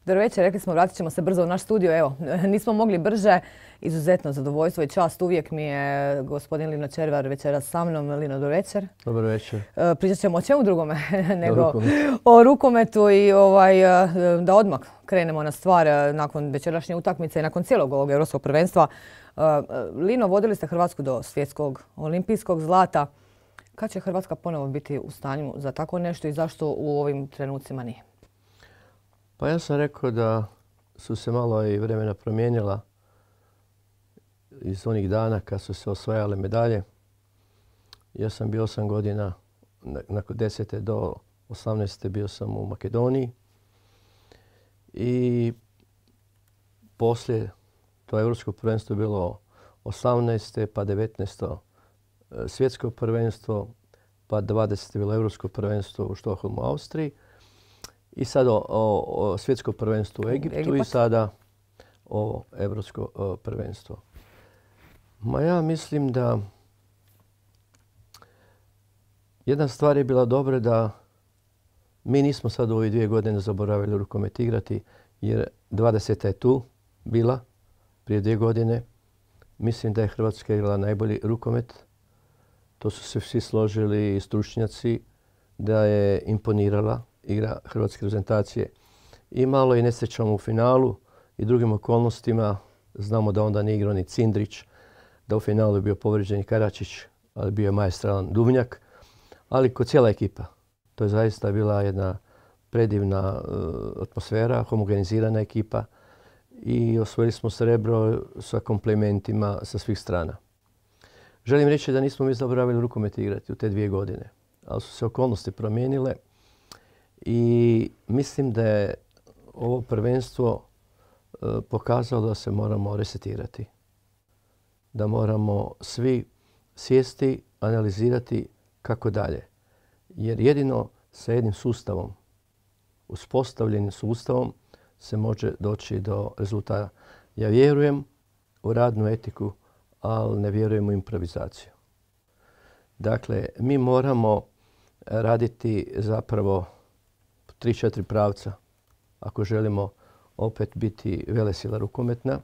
Dobro večer, rekli smo vratit ćemo se brzo u naš studio. Evo, nismo mogli brže. Izuzetno zadovoljstvo i čast. Uvijek mi je gospodin Lino Červar večeras sa mnom. Lino, dobro večer. Dobro večer. Pričat ćemo o čemu drugome nego o rukometu i da odmah krenemo na stvar nakon večerašnje utakmice i nakon cijelog ovog europskog prvenstva. Lino, vodili ste Hrvatsku do svjetskog olimpijskog zlata. Kad će Hrvatska ponovo biti u stanju za tako nešto i zašto u ovim trenucima nije? Pa ja sam rekao da su se malo i vremena promijenila iz onih dana kad su se osvajale medalje. Ja sam bio 8 godina, nakon 10. do 18. bio sam u Makedoniji. I poslije to europsko prvenstvo bilo 18. pa 19. svjetsko prvenstvo, pa 20. bilo europsko prvenstvo u Štokholmu, Austriji. I sad o svjetsko prvenstvo u Egiptu i sada ovo europsko prvenstvo. Ma ja mislim da jedna stvar je bila dobra da mi nismo sad u ove 2 godine zaboravili rukomet igrati jer 20. je tu bila prije 2 godine. Mislim da je Hrvatska igrala najbolji rukomet. To su se svi složili i stručnjaci da je imponirala igra hrvatske reprezentacije. I malo i nesrećom u finalu i drugim okolnostima. Znamo da onda nije igrao ni Cindrić, da u finalu je bio povrijeđen Karačić, ali bio je maestralan Duvnjak. Ali kod cijela ekipa. To je zaista bila jedna predivna atmosfera, homogenizirana ekipa i osvojili smo srebro sa komplimentima sa svih strana. Želim reći da nismo mi zaboravili rukomet igrati u te 2 godine, ali su se okolnosti promijenile i mislim da je ovo prvenstvo pokazalo da se moramo resetirati. Da moramo svi sjesti, analizirati kako dalje. Jer jedino sa jednim sustavom, uspostavljenim sustavom, se može doći do rezultata. Ja vjerujem u radnu etiku, ali ne vjerujem u improvizaciju. Dakle, mi moramo raditi zapravo 3-4 pravca ako želimo opet biti velesila rukometna,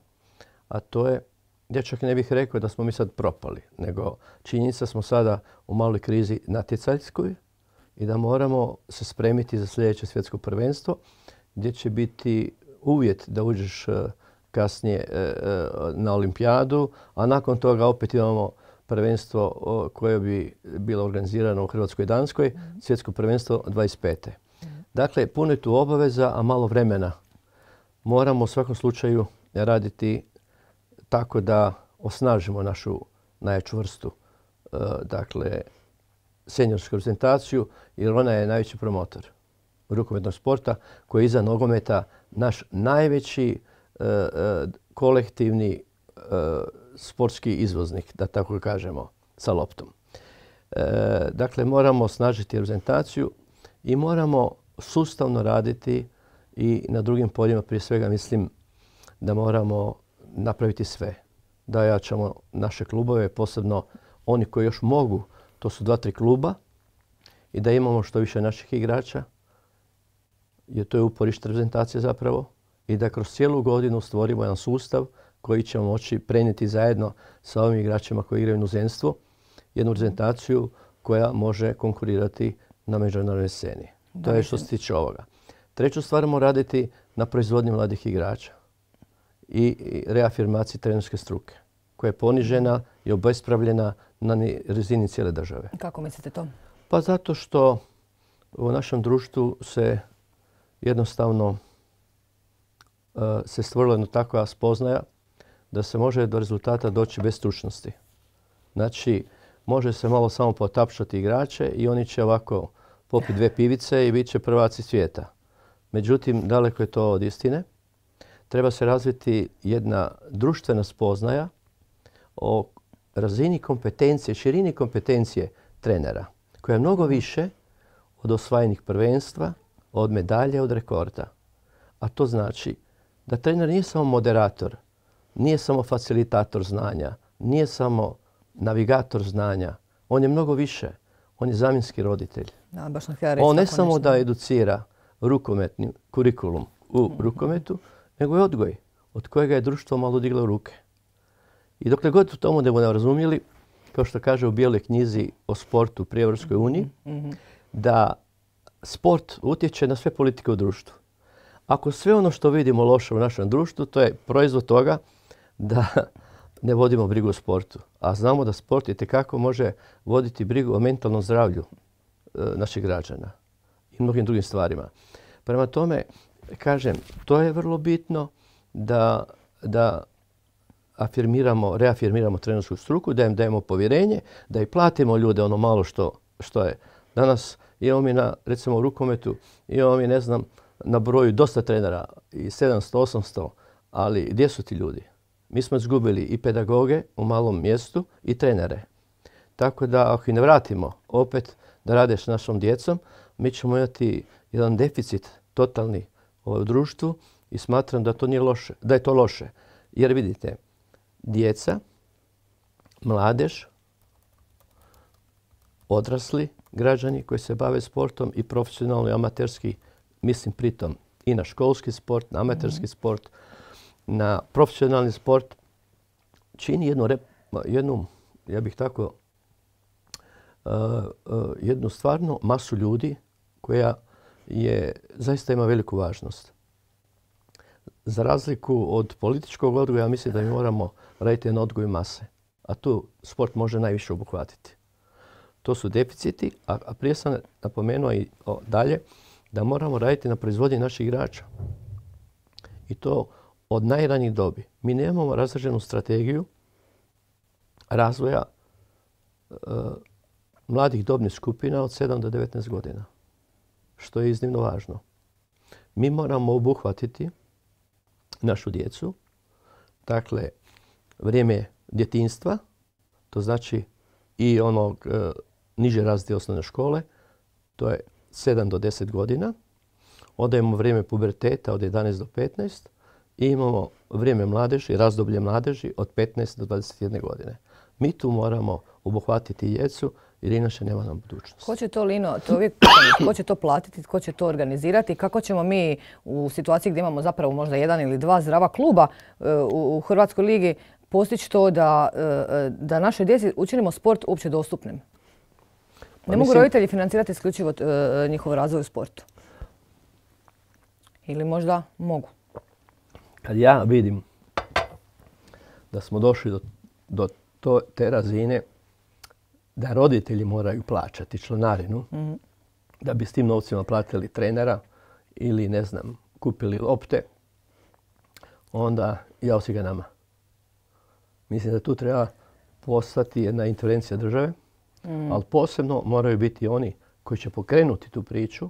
a to je, ja čak ne bih rekao da smo mi sad propali, nego činjenica smo sada u maloj krizi natjecajskoj i da moramo se spremiti za sljedeće svjetsko prvenstvo gdje će biti uvjet da uđeš kasnije na olimpijadu, a nakon toga opet imamo prvenstvo koje bi bilo organizirano u Hrvatskoj i Danskoj, svjetsko prvenstvo 25. Dakle, puno je tu obaveza, a malo vremena. Moramo u svakom slučaju raditi tako da osnažimo našu najjaču vrstu, dakle, seniorsku reprezentaciju, jer ona je najveći promotor rukometnog sporta koji je iza nogometa naš najveći kolektivni sportski izvoznik, da tako kažemo, sa loptom. Dakle, moramo osnažiti reprezentaciju i moramo sustavno raditi i na drugim poljima. Prije svega mislim da moramo napraviti sve. Da jačamo naše klubove, posebno oni koji još mogu, to su 2-3 kluba, i da imamo što više naših igrača, jer to je uporište reprezentacije zapravo, i da kroz cijelu godinu stvorimo jedan sustav koji ćemo moći prenijeti zajedno sa ovim igračima koji igraju u inozemstvu, jednu reprezentaciju koja može konkurirati na međunarodnoj sceni. To je što se tiče ovoga. Treću stvar moramo raditi na proizvodnji mladih igrača i reafirmaciji trenerske struke koja je ponižena i obespravljena na razini cijele države. Kako mislite to? Pa zato što u našem društvu se jednostavno se stvorila jedna takva spoznaja da se može do rezultata doći bez stručnosti. Znači, može se malo samo potapšati igrače i oni će ovako popiti 2 pivice i bit će prvaci svijeta. Međutim, daleko je to od istine. Treba se razviti jedna društvena spoznaja o razini kompetencije, širini kompetencije trenera, koja je mnogo više od osvajenih prvenstva, od medalje, od rekorda. A to znači da trener nije samo moderator, nije samo facilitator znanja, nije samo navigator znanja. On je mnogo više. On je zamjenski roditelj. Da, baš sam htjela reći On ne tako samo nešto. da educira rukometni kurikulum u rukometu, nego i odgoj od kojega je društvo malo diglo u ruke. I dokle god u tomu ne budemo razumjeli, kao što kaže u Bijeloj knjizi o sportu pri Europskoj uniji, da sport utječe na sve politike u društvu. Ako sve ono što vidimo loše u našem društvu, to je proizvod toga da ne vodimo brigu o sportu. A znamo da sport itekako može voditi brigu o mentalnom zdravlju naših građana i mnogim drugim stvarima. Prema tome, kažem, to je vrlo bitno da reafirmiramo trenersku struku, da im dajemo povjerenje, da i platimo ljude ono malo što je. Danas imamo mi recimo u rukometu, imamo mi, ne znam, na broju dosta trenera, i 700, 800, ali gdje su ti ljudi? Mi smo izgubili i pedagoge u malom mjestu i trenere. Tako da ako ih ne vratimo opet da rade s našom djecom, mi ćemo imati jedan deficit totalni u društvu i smatram da to nije loše, da je to loše. Jer vidite, djeca, mladež, odrasli građani koji se bave sportom i profesionalno i amaterski, mislim pritom i na školski sport, na amaterski sport, na profesionalni sport, čini jednu ja bih tako, jednu stvarno masu ljudi koja zaista ima veliku važnost. Za razliku od političkog odgoja, mislim da mi moramo raditi na odgoju mase. A tu sport može najviše obuhvatiti. To su deficiti, a prije sam napomenuo i dalje da moramo raditi na proizvodnji naših igrača. I to od najranijih dobi. Mi nemamo razrađenu strategiju razvoja mladih dobnih skupina od 7 do 19 godina, što je iznimno važno. Mi moramo obuhvatiti našu djecu, dakle, vrijeme djetinjstva, to znači i onog niže razrede osnovne škole, to je 7 do 10 godina. Onda imamo vrijeme puberteta od 11 do 15 i imamo vrijeme mladeži, razdoblje mladeži od 15 do 21 godine. Mi tu moramo obuhvatiti djecu jer inače nema nam budućnosti. Ko će to, Lino, ko će to platiti, ko će to organizirati? Kako ćemo mi u situaciji gdje imamo zapravo možda jedan ili dva zdrava kluba u Hrvatskoj ligi postići to da našoj djeci učinimo sport uopće dostupnim? Ne mogu roditelji financirati isključivo njihov razvoj u sportu? Ili možda mogu? Kad ja vidim da smo došli do te razine da roditelji moraju plaćati članarinu da bi s tim novcima platili trenera ili, ne znam, kupili lopte, onda jao si ga nama. Mislim da tu treba postati jedna intervencija države, ali posebno moraju biti oni koji će pokrenuti tu priču,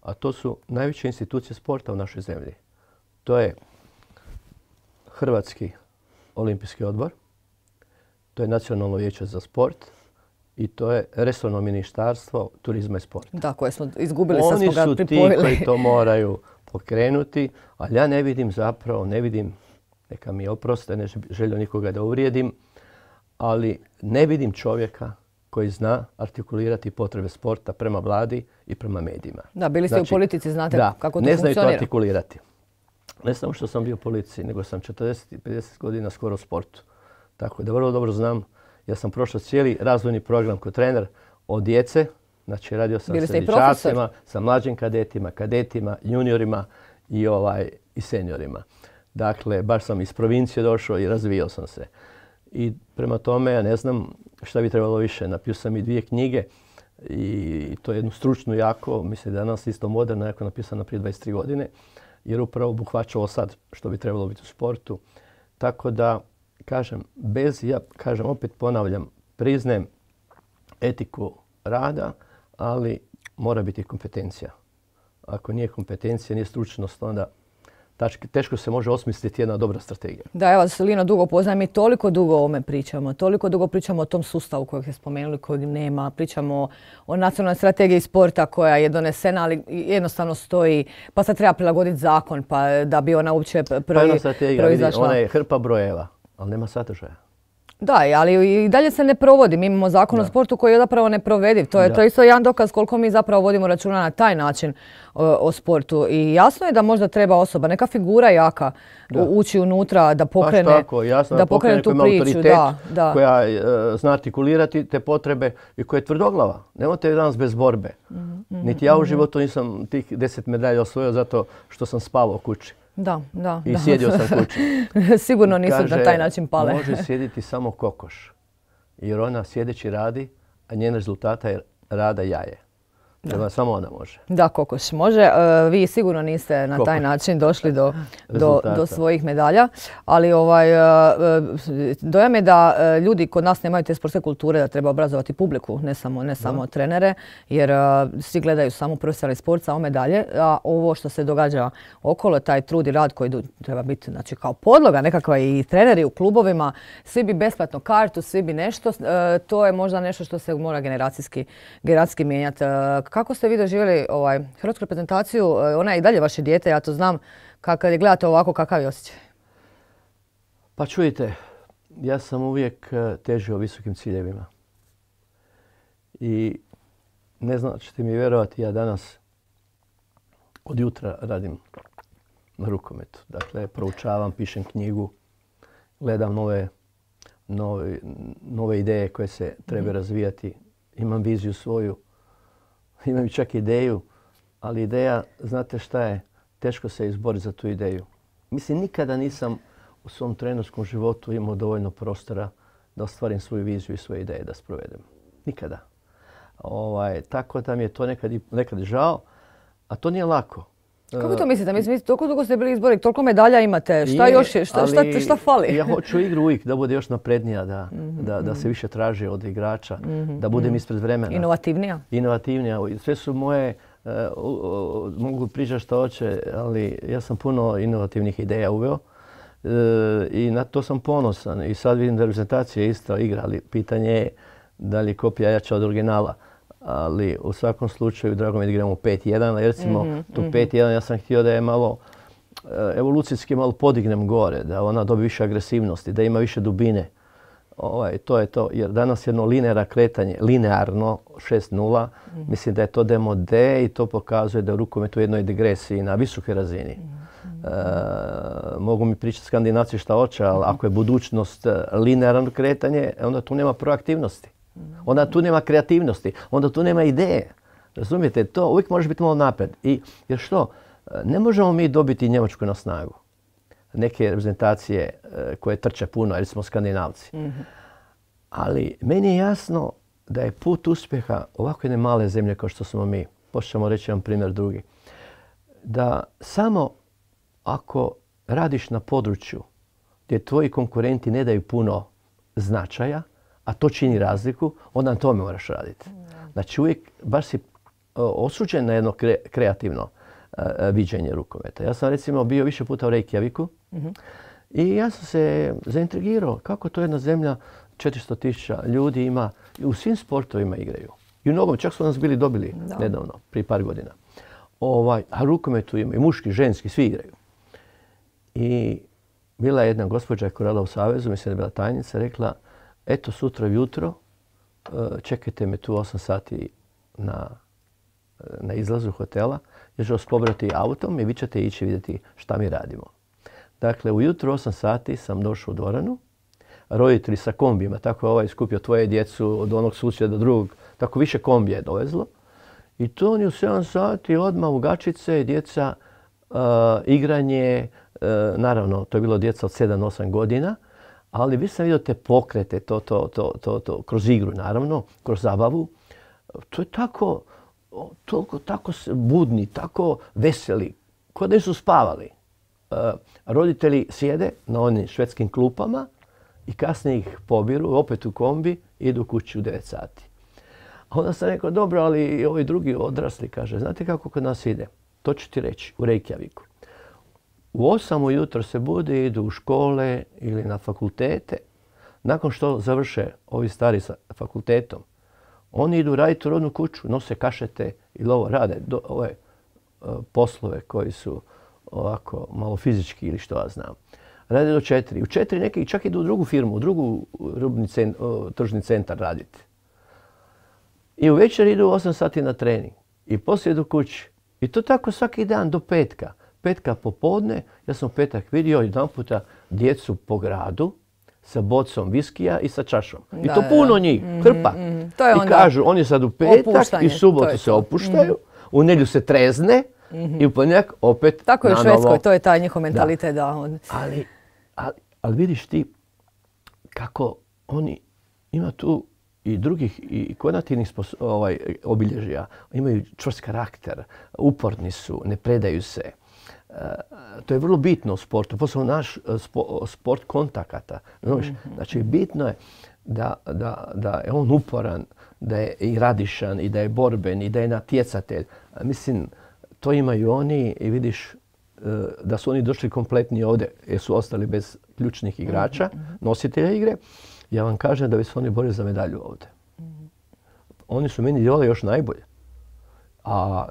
a to su najveće institucije sporta u našoj zemlji. To je Hrvatski olimpijski odbor, to je Nacionalno vijeće za sport i to je resorno ministarstvo turizma i sporta. Da, koje smo izgubili, sad smo ga pripojili. Oni su ti koji to moraju pokrenuti, ali ja ne vidim, neka mi oproste, ne želim nikoga da uvrijedim, ali ne vidim čovjeka koji zna artikulirati potrebe sporta prema vladi i prema medijima. Da, bili ste u politici, znate kako to funkcionira. Ne znaju to artikulirati. Ne samo što sam bio u policiji, nego sam 40-50 godina skoro u sportu. Tako da vrlo dobro znam. Ja sam prošao cijeli razvojni program kao trener od djece. Znači radio sam sa dječacima, sa mlađim kadetima, juniorima i seniorima. Dakle, baš sam iz provincije došao i razvijao sam se. I prema tome, ja ne znam šta bi trebalo više. Napisao sam i 2 knjige i to je jednu stručnu jako, mislim da je danas isto moderna, jako napisana prije 23 godine, jer upravo obuhvaća ovo sad što bi trebalo biti u sportu. Tako da, opet ponavljam, priznajem etiku rada, ali mora biti kompetencija. Ako nije kompetencija, nije stručnost, onda teško se može osmisliti jedna dobra strategija. Da, evo vas, Lino, dugo poznajem i toliko dugo o ovome pričamo. Toliko dugo pričamo o tom sustavu kojeg ste spomenuli, kojeg nema. Pričamo o nacionalnoj strategiji sporta koja je donesena, ali jednostavno stoji, pa sad treba prilagoditi zakon pa da bi ona uopće proizašla. Ona je hrpa brojeva, ali nema sadržaja. Da, ali i dalje se ne provodi. Mi imamo zakon o sportu koji je zapravo neprovediv. To je isto jedan dokaz koliko mi zapravo vodimo računa na taj način o sportu. I jasno je da možda treba osoba, neka figura jaka ući unutra da pokrene, tako, jasno, da pokrene tu priču. Koja zna artikulirati te potrebe i koja je tvrdoglava. Nemojte danas bez borbe. Niti ja u životu nisam tih 10 medalja osvojio zato što sam spavao kući. I sjedio sam kući. Sigurno nisu na taj način pale. Može sjediti samo kokoš. Jer ona sjedeći radi, a njen rezultata je rada jaje. Samo ona može. Da, kokoš može. Vi sigurno niste na taj način došli do svojih medalja. Ali dojam je da ljudi kod nas nemaju te sportske kulture, da treba obrazovati publiku, ne samo trenere. Jer svi gledaju samo profesionalni sport, samo medalje. A ovo što se događa okolo, taj trud i rad koji treba biti kao podloga nekakva i treneri u klubovima, svi bi besplatno kartu, svi bi nešto. To je možda nešto što se mora generacijski mijenjati. Kako ste vi doživjeli hrvatsku reprezentaciju? Ona je i dalje vaše dijete, ja to znam. Kad je gledate ovako, kakav je osjećaj? Pa čujte, ja sam uvijek težio visokim ciljevima. I ne znam, ćete mi vjerovati, ja danas od jutra radim na rukometu. Dakle, proučavam, pišem knjigu, gledam nove ideje koje se treba razvijati. Imam viziju svoju. Imam čak ideju, ali ideja, znate šta je, teško se izboriti za tu ideju. Mislim, nikada nisam u svom trenerskom životu imao dovoljno prostora da ostvarim svoju viziju i svoje ideje da sprovedem. Nikada. Tako da mi je to nekad žao, a to nije lako. Kako to mislite? Mislim, toliko dugo ste bili izbori, toliko medalja imate, šta još je, šta fali? Ja hoću igru uvijek da bude još naprednija, da se više traži od igrača, da budem ispred vremena. Inovativnija? Inovativnija. Sve su moje, mogu pričati što hoće, ali ja sam puno inovativnih ideja uveo i na to sam ponosan. I sad vidim da reprezentacija isto igra, ali pitanje je da li je kopija jača od originala. Ali u svakom slučaju drago mi je da igramo 5-1. Recimo tu 5-1 ja sam htio da je malo evolucijski malo podignem gore, da ona dobije više agresivnosti, da ima više dubine. To je to. Jer danas jedno linearno 6-0, mislim da je to demode i to pokazuje da je rukomet u jednoj degresiji na visokoj razini. Mogu mi pričati Skandinavci šta hoće, ali ako je budućnost linearno kretanje, onda tu nema proaktivnosti. Onda tu nema kreativnosti, onda tu nema ideje. Razumijete, to uvijek može biti malo napred. Jer što? Ne možemo mi dobiti Njemačku na snagu. Neke reprezentacije koje trče puno, jer smo Skandinavci. Ali meni je jasno da je put uspjeha ovako jedne male zemlje kao što smo mi, počnemo reći vam primjer drugi, da samo ako radiš na području gdje tvoji konkurenti ne daju puno značaja, a to čini razliku, onda na tome moraš raditi. Znači uvijek baš si osuđen na jedno kreativno viđenje rukometa. Ja sam recimo bio više puta u Reykjaviku i ja sam se zaintrigirao kako to jedna zemlja 400.000 ljudi ima i u svim sportovima igraju. I u nogom, čak su nas bili dobili nedavno, prije par godina. A rukometu ima i muški, ženski, svi igraju. I bila je jedna gospođa koja je radila u Savezu, mislim da je bila tajnica, rekla eto sutra ujutro čekajte me tu 8 sati na izlazu hotela, jer ću vas pobrati autom i vi ćete ići vidjeti šta mi radimo. Dakle, ujutro 8 sati sam došao u dvoranu, roditelji sa kombijima, tako je ovaj skupio tvoje djecu od onog susjeda do drugog, tako više kombija je dovezlo. I to oni u 7 sati odmah u gačice, djeca, igranje, naravno to je bilo djeca od 7-8 godina, ali vi sam vidio te pokrete, to kroz igru naravno, kroz zabavu. To je tako budni, tako veseli, kao da su spavali. Roditelji sjede na onim švedskim klupama i kasnije ih pobiru, opet u kombi, idu kući u 9 sati. A onda sam rekao, dobro, ali ovi drugi odrasli, kaže, znate kako kod nas ide? To ću ti reći, u Reykjaviku. U 8 ujutro se bude, idu u škole ili na fakultete. Nakon što završe ovi stari sa fakultetom, oni idu raditi u rodnu kuću, nose kašete ili ovo rade, ove poslove koji su ovako malo fizički ili što ja znam. rade do 4. U 4 neki čak idu u drugu firmu, u drugu tržni centar raditi. I u večer idu 8 sati na trening. I poslije idu kući. I to tako svaki dan do petka. Petka popodne, ja sam u petak vidio jedanputa djecu po gradu sa bocom viskija i sa čašom. I to puno njih, hrpa. I kažu, oni sad u petak i subotu se opuštaju, u nedjelju se trezne i u ponedjeljak opet tako je u Švedskoj, to je taj njihov mentalitet. Ali vidiš ti kako oni ima tu i drugih i konativnih obilježja. Imaju čvrst karakter, uporni su, ne predaju se. To je vrlo bitno u sportu, posebno naš sport kontakata. Znači, bitno je da je on uporan, da je i radišan, i da je borben, i da je natjecatelj. Mislim, to imaju oni i vidiš da su oni došli kompletni ovdje jer su ostali bez ključnih igrača, nositelja igre. Ja vam kažem da bi se oni borili za medalju ovdje. Oni su meni djelovali još najbolje.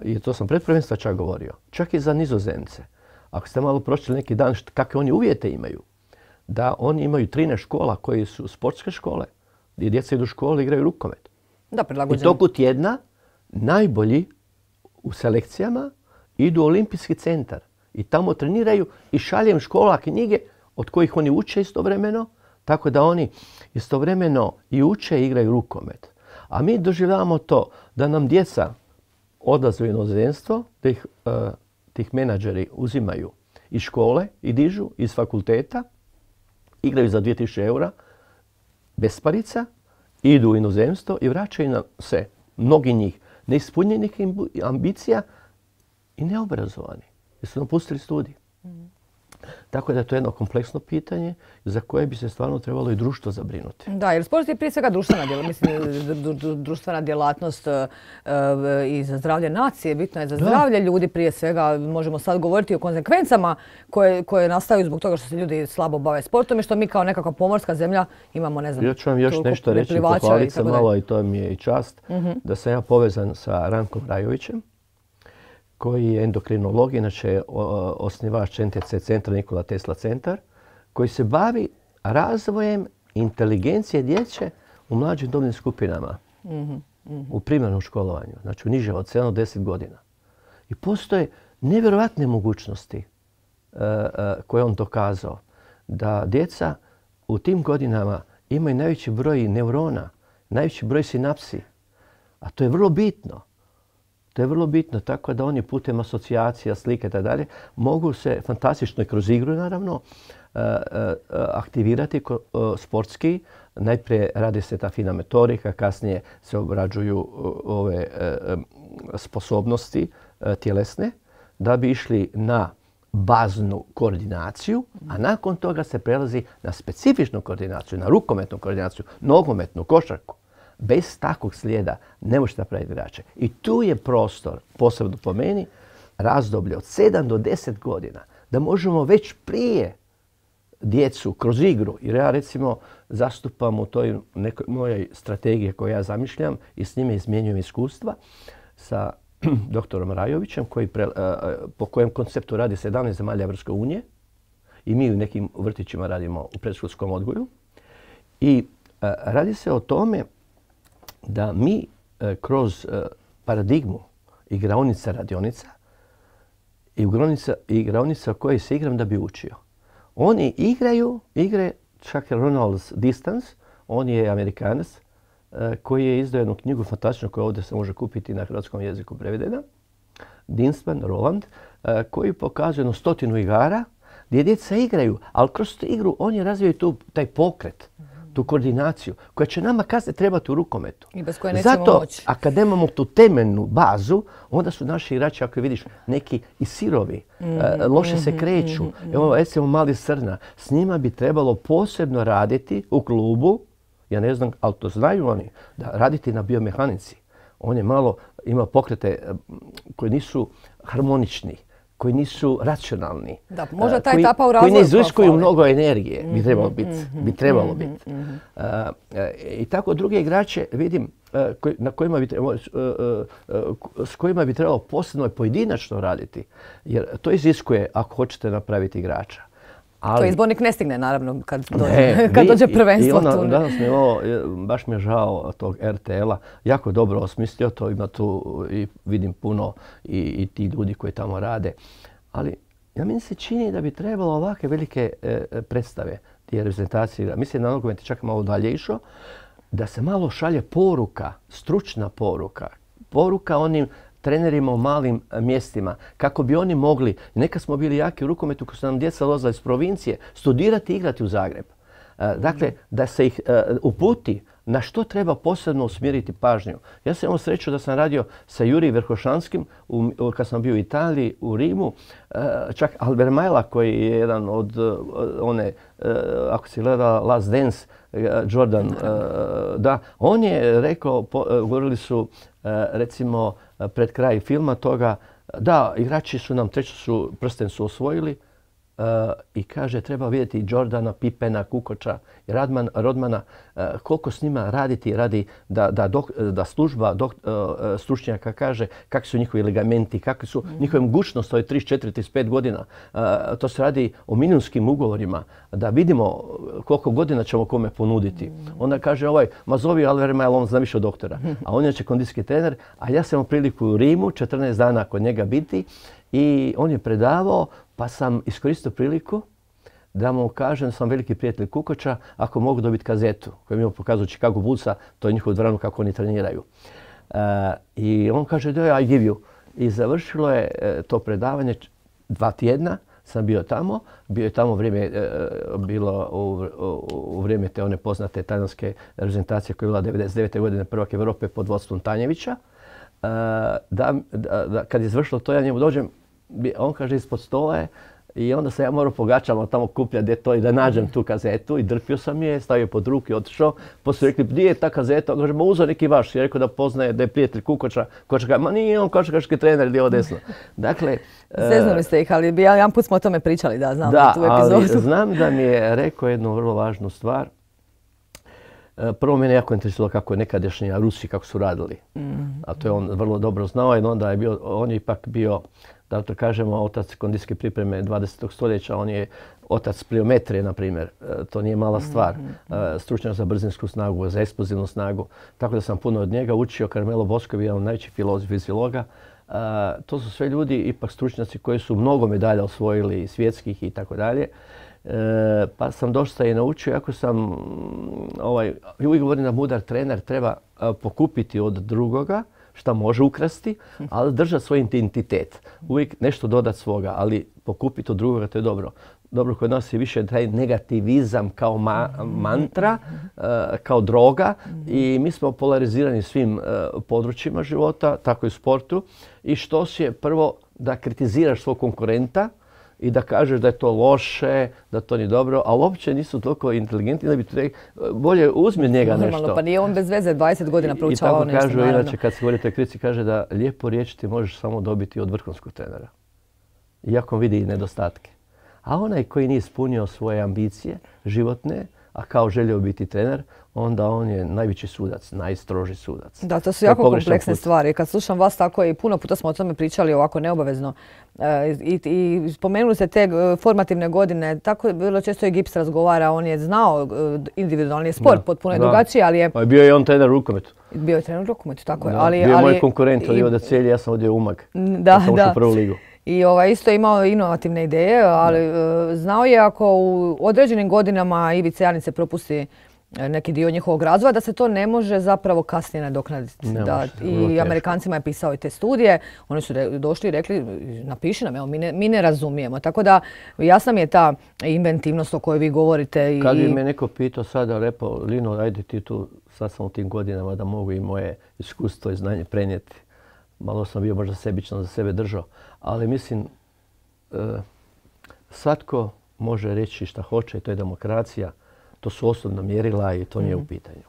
I to sam pred prvenstva čak govorio. Čak i za Nizozemce. Ako ste malo pročitali neki dan kakve oni uvjete imaju, da oni imaju 13 škola koje su sportske škole, gdje djeca idu u školu i igraju rukomet. Da, prilagođeni. I toku tjedna najbolji u selekcijama idu u olimpijski centar. I tamo treniraju i šaljem škola knjige od kojih oni uče istovremeno, tako da oni istovremeno i uče i igraju rukomet. A mi doživljavamo to da nam djeca odlaze u inozemstvo, da ih tih menadžeri uzimaju iz škole i dižu iz fakulteta, igraju za 2000 eura, besparica, idu u inozemstvo i vraćaju nam se, mnogi njih, neispunjenih ambicija i neobrazovani, jer su napustili studij. Tako da je to jedno kompleksno pitanje za koje bi se stvarno trebalo i društvo zabrinuti. Da, jer sport je prije svega društvena djelatnost i za zdravlje nacije. Bitno je za zdravlje ljudi prije svega. Možemo sad govoriti o konsekvencama koje nastaju zbog toga što se ljudi slabo bave sportom i što mi kao nekakva pomorska zemlja imamo, ne znam, ja ću vam još nešto reći, pohvaliti se malo i to mi je i čast, da sam ja povezan sa Rankom Rajovićem, koji je endokrinolog, inače osnivač NTC centra Nikola Tesla centar, koji se bavi razvojem inteligencije djece u mlađim dobnim skupinama, u primarnom školovanju, znači u niže od 7 do 10 godina. I postoje nevjerojatne mogućnosti koje on dokazao, da djeca u tim godinama imaju najveći broj neurona, najveći broj sinapsi, a to je vrlo bitno. To je vrlo bitno, tako da oni putem asocijacija, slike i dalje mogu se fantastično i kroz igru naravno aktivirati sportski. Najprije radi se ta fina motorika, kasnije se obrađuju ove sposobnosti tjelesne da bi išli na baznu koordinaciju, a nakon toga se prelazi na specifičnu koordinaciju, na rukometnu koordinaciju, nogometnu, košarku. Bez takvog slijeda ne možete napraviti igrače. I tu je prostor, posebno po meni, razdoblje od 7 do 10 godina, da možemo već prije djecu kroz igru, jer ja recimo zastupam u toj nekoj mojoj strategiji koju ja zamišljam i s njime izmjenjujem iskustva sa doktorom Rajovićem, po kojem konceptu radi 17 zemalja Evropske unije i mi u nekim vrtićima radimo u predškolskom odgoju. I radi se o tome da mi kroz paradigmu igraonica, radionica i igraonica koje se igram da bi učio. Oni igraju igre, čak Ronald Distance, on je Amerikanac koji je izdao jednu knjigu fantastičnu koja ovdje se može kupiti na hrvatskom jeziku prevedena. Dinsman, Roland, koji pokazuje 100 igara gdje djeca igraju, ali kroz tu igru oni razvijaju taj pokret, tu koordinaciju koja će nama kasnije trebati u rukometu. I bez koje nećemo moći. A kad nemamo tu temeljnu bazu, onda su naši igrači, ako vidiš, neki i sirovi, loše se kreću. Evo, recimo mali Srna, s njima bi trebalo posebno raditi u klubu, ja ne znam, ali to znaju oni, da raditi na biomehanici. On je malo ima pokrete koji nisu harmonični, koji nisu racionalni, da, možda taj etapa u razvoju koji ne iziskuju mnogo energije, bi trebalo biti. I tako druge igrače vidim s kojima bi trebalo posebno i pojedinačno raditi, jer to iziskuje ako hoćete napraviti igrača. To izbornik ne stigne, naravno, kad dođe prvenstvo. Danas baš mi je žao tog RTL-a. Jako dobro osmislio to, ima tu i vidim puno i ti ljudi koji tamo rade. Ali meni se čini da bi trebalo ovakve velike predstave, tije reprezentacije, mislim na nogomet je čak malo dalje išao, da se malo šalje poruka, stručna poruka onim trenerima u malim mjestima, kako bi oni mogli, neka smo bili jaki u rukometu, kad su nam djeca dolazila iz provincije, studirati i igrati u Zagreb. Dakle, da se ih uputi na što treba posebno usmjeriti pažnju. Ja sam imao sreću da sam radio sa Juri Verhošanskim kad sam bio u Italiji, u Rimu. Čak Albert Majla koji je jedan od one, ako si gleda Last Dance, Jordan, da, on je rekao, govorili su recimo pred kraj filma toga, da, igrači su nam treću prsten su osvojili, i kaže treba vidjeti Jordana, Pippena, Kukoča i Rodmana koliko s njima raditi radi da služba stručnjaka kaže kakvi su njihovi ligamenti, kakvi su njihove mogućnosti, to je 34-35 godina. To se radi o milijunskim ugovorima, da vidimo koliko godina ćemo kome ponuditi. Onda kaže ma zovi Albert Majl, on zna više od doktora, a on je kondicijski trener, a ja sam imao priliku u Rimu 14 dana kod njega biti i on je predavao. Pa sam iskoristio priliku da mu kažem da sam veliki prijatelj Kukoča, ako mogu dobiti kazetu koju mi je pokazao Chicago Bullsa, to je njihovu dvoranu kako oni treniraju. I on kaže da I give you. I završilo je to predavanje 2 tjedna, sam bio tamo. Bio je tamo bilo u vrijeme te one poznate talijanske reprezentacije koja je bila 99. godine prvak Europe pod vodstvom Tanjevića. Kad je završilo to, ja njemu dođem, on kaže ispod stola je i onda sam ja morao po gaćama tamo kupljati to i da nađem tu kazetu i drpio sam je, stavio pod ruku i otišao. Poslije rekli, gdje je ta kazeta? On kaže, uzeo neki vaš. I rekao da poznaje, da je prijatelj Kukoča. Kukoča kaže, ma nije on košarkaški trener, lijevo desno. Dakle, zeznuli ste ih, ali jedan put smo o tome pričali, da, znam tu epizodu. Ali znam da mi je rekao jednu vrlo važnu stvar. Prvo mene jako interesovalo kako je nekadašnji Rusi, kako su radili. A to je on vrlo dobro znao i onda on je ipak bio, da to kažemo, otac kondicijske pripreme 20. stoljeća. On je otac pliometrije, na primjer. To nije mala stvar. Stručnjak za brzinsku snagu, za eksplozivnu snagu. Tako da sam puno od njega učio. Carmelo Bosco je jedan od najvećih fiziologa. To su sve ljudi, ipak stručnjaci koji su mnogo medalja osvojili, svjetskih i tako dalje. Pa sam dosta i naučio, iako sam, uvijek govorim da mudar trener treba pokupiti od drugoga šta može ukrasti, ali držati svoj identitet. Uvijek nešto dodati svoga, ali pokupiti od drugoga, to je dobro. Dobro, kod nas je više taj negativizam kao mantra, kao droga i mi smo polarizirani svim područjima života, tako i u sportu. I što je prvo da kritiziraš svog konkurenta i da kažeš da je to loše, da to nije dobro, ali uopće nisu toliko inteligentni da bi ti bolje uzmi njega nešto. Normalno, pa nije on bez veze 20 godina proučavao nešto. I tako kažu, inače kad se govori o toj kritici, kaže da lijepo riječ ti možeš samo dobiti od vrhunskog trenera. Iako vidi nedostatke. A onaj koji nije ispunio svoje ambicije životne, a kao želio biti trener, onda on je najveći sudac, najstroži sudac. Da, to su jako kompleksne stvari. Kad slušam vas tako i puno puta smo o tome pričali ovako neobavezno i spomenuli ste te formativne godine, tako vrlo često i Gips razgovara, on je znao individualni sport, potpuno je drugačiji, ali je... Bio je on trener u rukometu. Bio je trener u rukometu, tako je. Bio je moj konkurent, od da Celje, ja sam ovdje Umag. Da, sam ušao u prvu ligu. I isto je imao inovativne ideje, ali znao je ako u određenim godinama Ivice Janice propusti neki dio njihovog razvoja, da se to ne može zapravo kasnije nadoknaditi. I Amerikancima je pisao i te studije, oni su došli i rekli napiši nam, evo, mi ne razumijemo. Tako da jasna mi je ta inventivnost o kojoj vi govorite. Kad bi me neko pitao sada, rekao, Lino, ajde ti tu, sad sam u tim godinama da mogu i moje iskustvo i znanje prenijeti. Malo sam bio možda sebično za sebe držao, ali mislim svatko može reći šta hoće i to je demokracija. To su osobna mjerila i to nije u pitanju.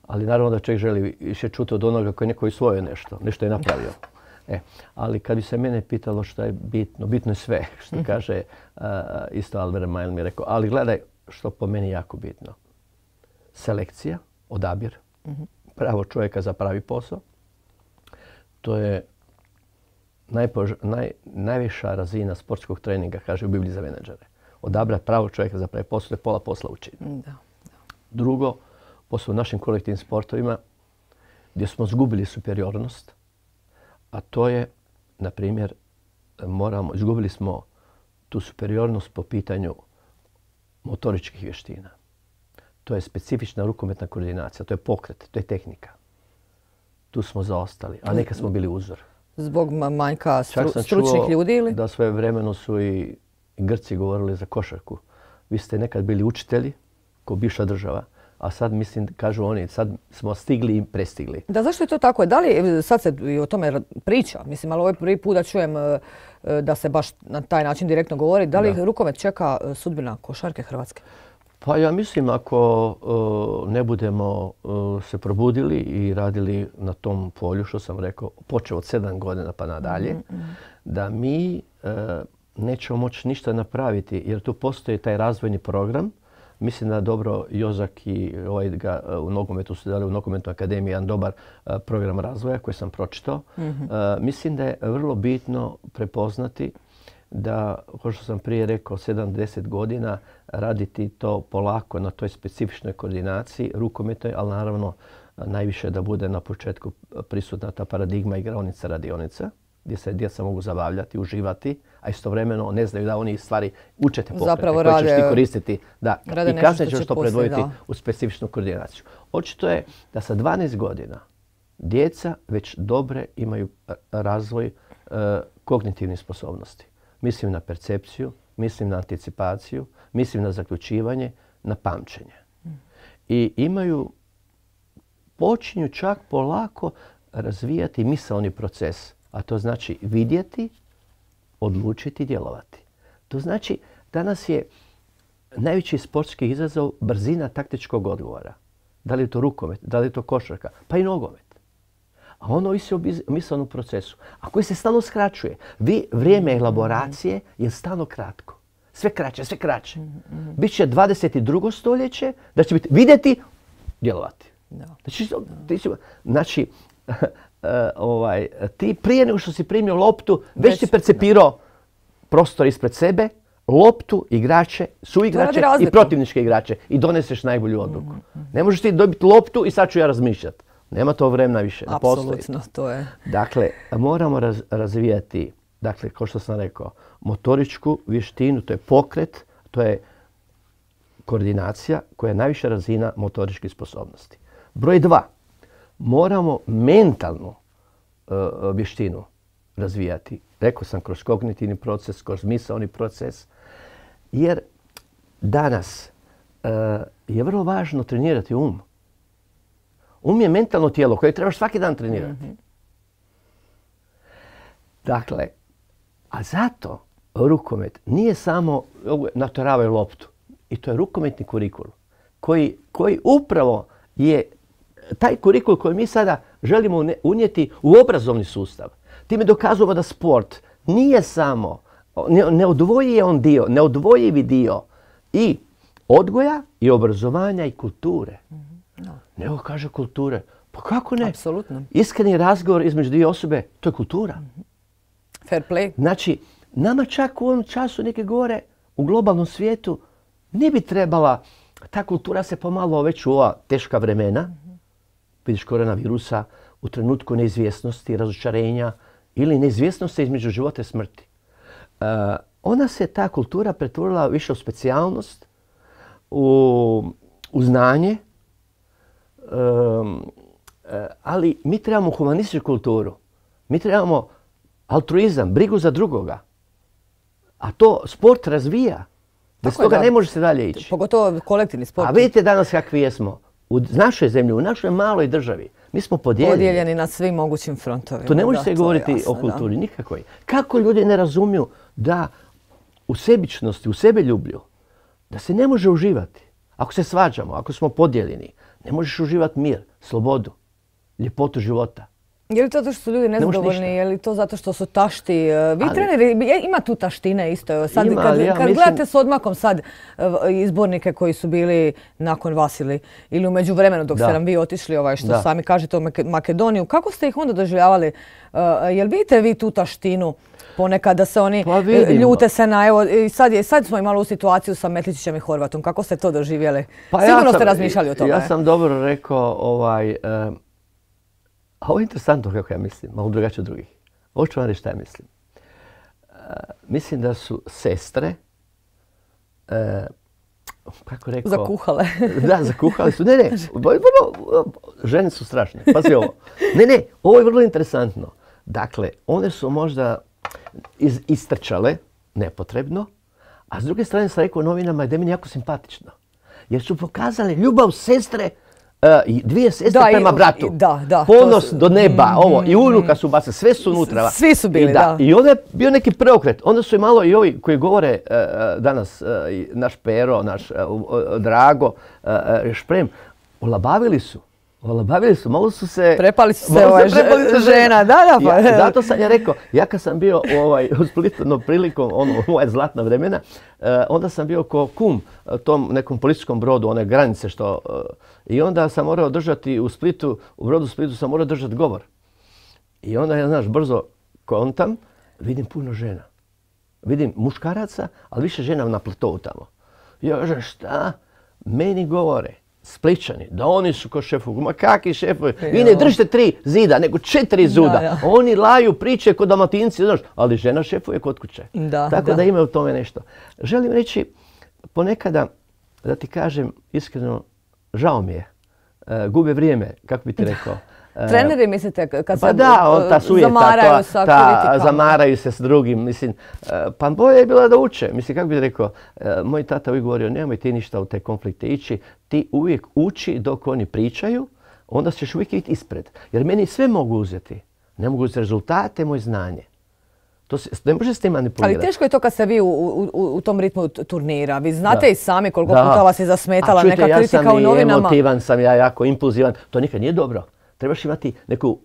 Ali naravno da čovjek želi više čuti od onoga koji je neko osvojio nešto je napravio. Ali kad bi se mene pitalo šta je bitno, bitno je sve, što kaže isto Albert Majl mi je rekao. Ali gledaj što po meni jako bitno. Selekcija, odabir, pravo čovjeka za pravi posao. To je najviša razina sportskog treninga, kaže u Bibliji za menadžere. odabrati pravog čovjeka za pravi posao, pola posla učini. Drugo, posle u našim kolektivnim sportovima, gdje smo izgubili superiornost, a to je, na primjer, izgubili smo tu superiornost po pitanju motoričkih vještina. To je specifična rukometna koordinacija, to je pokret, to je tehnika. Tu smo zaostali, a nekad smo bili uzor. Zbog manjka stručnih ljudi ili? Da svoje vremeno su i Grci govorili za košarku. Vi ste nekad bili učitelji, kao bivša država, a sad mislim, kažu oni, sad smo stigli i prestigli. Da, zašto je to tako? Da li, sad se i o tome priča, mislim, ali ovo je prvi put da čujem da se baš na taj način direktno govori. Da li rukomet čeka sudbina košarke Hrvatske? Pa ja mislim ako ne budemo se probudili i radili na tom polju, što sam rekao, počeo od 7 godina pa nadalje, da mi nećemo moći ništa napraviti jer tu postoji taj razvojni program. Mislim da dobro Jozak i u nogometu su dali u Nogometnoj akademiji jedan dobar program razvoja koji sam pročitao. Mislim da je vrlo bitno prepoznati da, kao što sam prije rekao, 7-10 godina raditi to polako na toj specifičnoj koordinaciji rukometnoj, ali naravno najviše da bude na početku prisutna ta paradigma igraonica radionica, gdje se djeca mogu zabavljati, uživati, a istovremeno ne znaju da oni stvari učete pokrete koje ćeš ti koristiti. Da, i kasnije ćeš to predvoditi u specifičnu koordinaciju. Očito je da sa 12 godina djeca već dobre imaju razvoj kognitivnih sposobnosti. Mislim na percepciju, mislim na anticipaciju, mislim na zaključivanje, na pamćenje. I počinju čak polako razvijati misaoni proces, a to znači vidjeti, odlučiti, djelovati. To znači danas je najveći sportski izazov brzina taktičkog odgovora. Da li je to rukomet, da li je to košarka, pa i nogomet. A ono ovisi o misaonom procesu, a koji se stalno skraćuje. Vrijeme elaboracije je stalno kratko. Sve kraće, sve kraće. Biće 22. stoljeće da će biti vidjeti, djelovati. Znači, ti prije nego što si primio loptu, već si percepirao prostor ispred sebe, loptu, igrače, suigrače i protivničke igrače i doneseš najbolju odluku. Ne možeš ti dobiti loptu i sad ću ja razmišljati. Nema to vremena više. Apsolutno, to je. Dakle, moramo razvijati, dakle, kao što sam rekao, motoričku vještinu, to je pokret, to je koordinacija koja je najviša razina motoričkih sposobnosti. Broj 2. Moramo mentalnu vještinu razvijati. Rekao sam kroz kognitivni proces, kroz misaoni proces. Jer danas je vrlo važno trenirati um. Um je mentalno tijelo koje trebaš svaki dan trenirati. Dakle, a zato rukomet nije samo natjeravaju loptu. I to je rukometni kurikul koji upravo je taj kurikul koji mi sada želimo unijeti u obrazovni sustav. Time dokazujemo da sport nije samo neodvojivi dio i odgoja i obrazovanja i kulture. Nego kaže kulture. Pa kako ne? Apsolutno. Iskreni razgovor između dvije osobe, to je kultura. Fair play. Znači, nama čak u ovom času neki govore u globalnom svijetu ne bi trebala, ta kultura se pomalo već u ova teška vremena, vidiš koronavirusa, u trenutku neizvjesnosti, razočarenja ili neizvjesnosti između života i smrti. Ona se, ta kultura, pretvorila više u specijalnost, u znanje, ali mi trebamo humanističku kulturu. Mi trebamo altruizam, brigu za drugoga. A to sport razvija. Bez toga ne može se dalje ići. Pogotovo kolektivni sport. A vidite danas kakvi jesmo. U našoj zemlji, u našoj maloj državi, mi smo podijeljeni. Podijeljeni na svim mogućim frontovima. To ne može se govoriti o kulturi nikakvoj. Kako ljudi ne razumiju da u sebičnosti, u sebeljublju, da se ne može uživati. Ako se svađamo, ako smo podijeljeni, ne možeš uživati mir, slobodu, ljepotu života. Je li to zato što su ljudi nezadovoljni, je li to zato što su tašti? Vi treneri, ima tu taštine isto. Sad, kad gledate s odmakom sad izbornike koji su bili nakon vas ili u međuvremenu dok ste nam vi otišli, što sami kažete u Makedoniju, kako ste ih onda doživljavali? Jel vidite vi tu taštinu ponekad da se oni ljute se na, evo, sad smo imali u situaciju sa Metličićem i Horvatom. Kako ste to doživjeli? Sigurno ste razmišljali o tome. Ja sam dobro rekao, a ovo je interesantno kako ja mislim, malo drugačije od drugih. Ovo ću vam reći šta ja mislim. Mislim da su sestre, kako rekao... Zakuhale. Da, zakuhale su. Ne, žene su strašne. Pazi ovo. Ne, ovo je vrlo interesantno. Dakle, one su možda istrčale nepotrebno, a s druge strane sam rekao novinama da je meni jako simpatično. Jer su pokazali ljubav sestre, dvije sestre prema bratu. Ponos do neba, ovo. I unuka su bacili, sve su unutra. Svi su bili, da. I onda je bio neki preokret. Onda su i malo i ovi koji govore danas, naš Pero, naš Drago, Šprem, olabavili su, malo su se... Prepali su se žena, da. Zato sam ja rekao, ja kad sam bio u Splitu prilikom moja zlatna vremena, onda sam bio ko kum tom nekom policijskom brodu, one granice što... I onda sam morao držati u brodu Splitu sam morao držati govor. I onda ja, znaš, brzo kontam, vidim puno žena. Vidim muškaraca, ali više žena na platovu tamo. Ja kažem, šta? Meni govore Spličani, da oni su ko šefovi. Ma kakvi šefovi? Vi ne držite 3 zida, nego 4 zuda. Oni laju priče kod Dalmatinci, znaš, ali žena šefuje kod kuće. Tako da ima u tome nešto. Želim reći, ponekada, da ti kažem iskreno, žao mi je. Gube vrijeme, kako bi ti rekao. Treneri mislite kad se zamaraju sa kritikama? Zamaraju se s drugim. Mislim, pa bolje je bilo da uče. Mislim, kako bih rekao, moj tata uvijek govorio, nemoj ti ništa u te konflikte ići. Ti uvijek uči dok oni pričaju, onda ćeš uvijek biti ispred. Jer meni sve mogu uzeti. Ne mogu uzeti rezultate, moje znanje. Ne može s tim manipulirati. Ali teško je to kad ste vi u tom ritmu turnira. Vi znate i sami koliko puta vas je zasmetala neka kritika u novinama. Ja sam i emotivan, sam ja jako impulzivan. To nikad nije dobro. Trebaš imati neku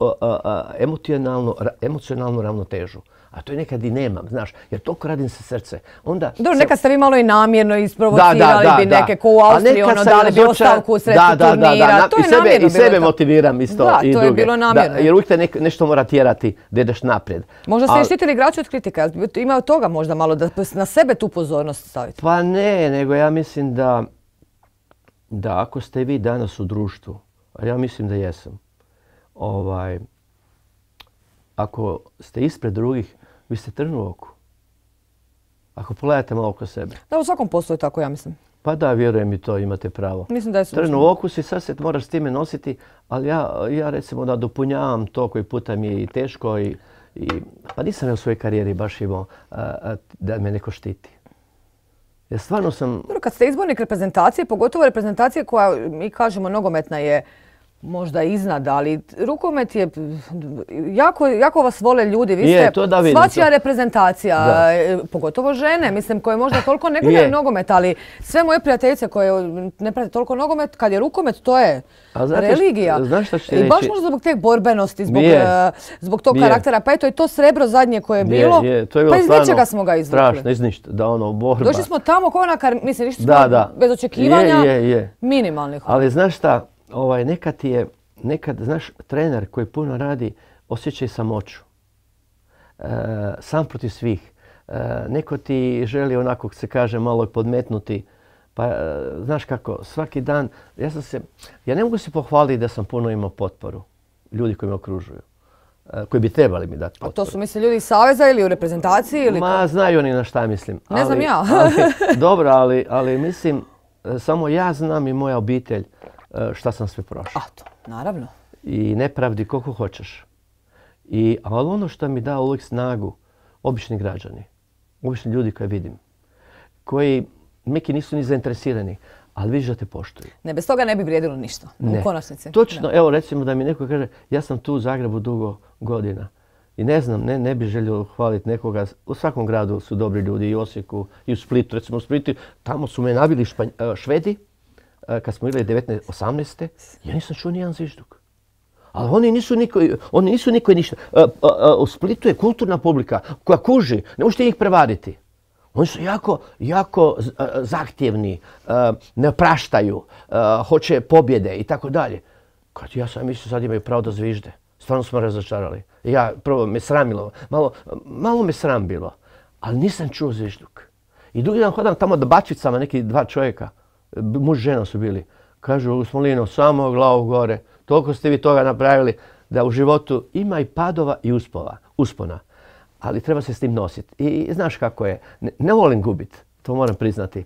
emocionalnu ravnotežu. A to je nekad i nemam, znaš, jer toliko radim se srce. Dobro, nekad ste vi malo i namjerno isprovocirali bi neke ko u Austriji, dali bi ostavku u sredsku turnira. To je namjerno bilo. I sebe motiviram isto i druge. Da, to je bilo namjerno. Jer uvijek te nešto mora tjerati da ideš naprijed. Možda ste štitili igrače od kritika. Ima od toga možda malo da na sebe tu pozornost stavite. Pa ne, nego ja mislim da ako ste vi danas u društvu, a ja mislim da jesam, ako ste ispred drugih, vi ste trn u oku. Ako pogledate malo oko sebe. Da, u svakom poslu je tako, ja mislim. Pa da, vjerujem i to, imate pravo. Mislim da je trn u oku si, sad se moraš s time nositi, ali ja recimo da dopunjavam to koji puta mi je i teško pa nisam ja u svojoj karijeri baš imao da me neko štiti. Jer stvarno sam... Dobro, kad ste izbornik reprezentacije, pogotovo reprezentacije koja, mi kažemo, nogometna je možda iznad, ali rukomet je, jako vas vole ljudi, vi ste svačija reprezentacija, pogotovo žene, mislim, koje možda toliko ne gledaju nogomet, ali sve moje prijateljice koje ne prate toliko nogomet, kad je rukomet, to je religija. I baš možda zbog te borbenosti, zbog tog karaktera, pa eto i to srebro zadnje koje je bilo, pa iz ničega smo ga izvukli. Strašno, iz ništa, da ono, borba. Došli smo tamo kao mislim, išli smo bez očekivanja, minimalnih. Ali znaš šta, nekad, znaš, trener koji puno radi osjeća i samoću. Sam protiv svih. Neko ti želi onako, se kaže, malo podmetnuti. Pa, znaš kako, svaki dan, ja ne mogu se pohvaliti da sam puno imao potporu. Ljudi koji me okružuju. Koji bi trebali mi dati potporu. A to su misli ljudi iz Saveza ili u reprezentaciji? Ili ma, znaju oni na šta mislim. Ne znam ja. Dobro, ali mislim, samo ja znam i moja obitelj šta sam sve prošao. A to, naravno. I nepravdi koliko hoćeš. Ali ono što mi da uvijek snagu, obični građani, obični ljudi koje vidim, koji neki nisu ni zainteresirani, ali vidiš da te poštuju. Ne, bez toga ne bi vrijedilo ništa, u konačnici. Točno, evo recimo da mi neko kaže, ja sam tu u Zagrebu dugo godina i ne znam, ne bi želio hvaliti nekoga, u svakom gradu su dobri ljudi, i u Osijeku, i u Splitu, recimo u Splitu, tamo su me nabili Švedi, kad smo igrali 1918. ja nisam čuo nijedan zvižduk. Ali oni nisu niko ništa. U Splitu je kulturna publika koja kuži, ne možete ih prevariti. Oni su jako zahtjevni, ne praštaju, hoće pobjede i tako dalje. Kad ja sam mislio sad imaju pravo da zvižde. Stvarno smo razočarali. Ja prvo me sramilo, malo me sram bilo, ali nisam čuo zvižduk. I drugi dan hodam tamo da bačicama, neki 2 čovjeka, muž i žena su bili. Kažu, Smolino, samo glavu gore, toliko ste vi toga napravili da u životu ima i padova i uspona. Ali treba se s tim nositi. I znaš kako je, ne volim gubiti, to moram priznati.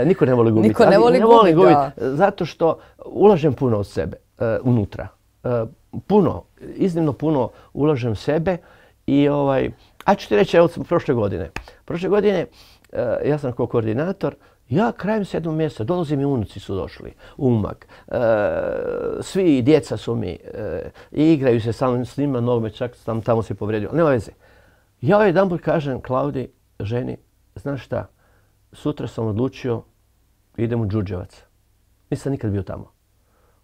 Niko ne voli gubiti. Niko ne voli gubiti, zato što ulažem puno od sebe unutra. Puno, iznimno puno ulažem sebe i a ću ti reći, evo prošle godine ja sam kao koordinator, ja krajem 7. mjeseca, dolazi mi unuci su došli, u Umag, svi djeca su mi i igraju se s njima nogomet, čak sam tamo se povredio, nema veze. Ja jedanput kažem Klaudi, ženi, znaš šta, sutra sam odlučio, idem u Đurđevac. Nisam nikad bio tamo.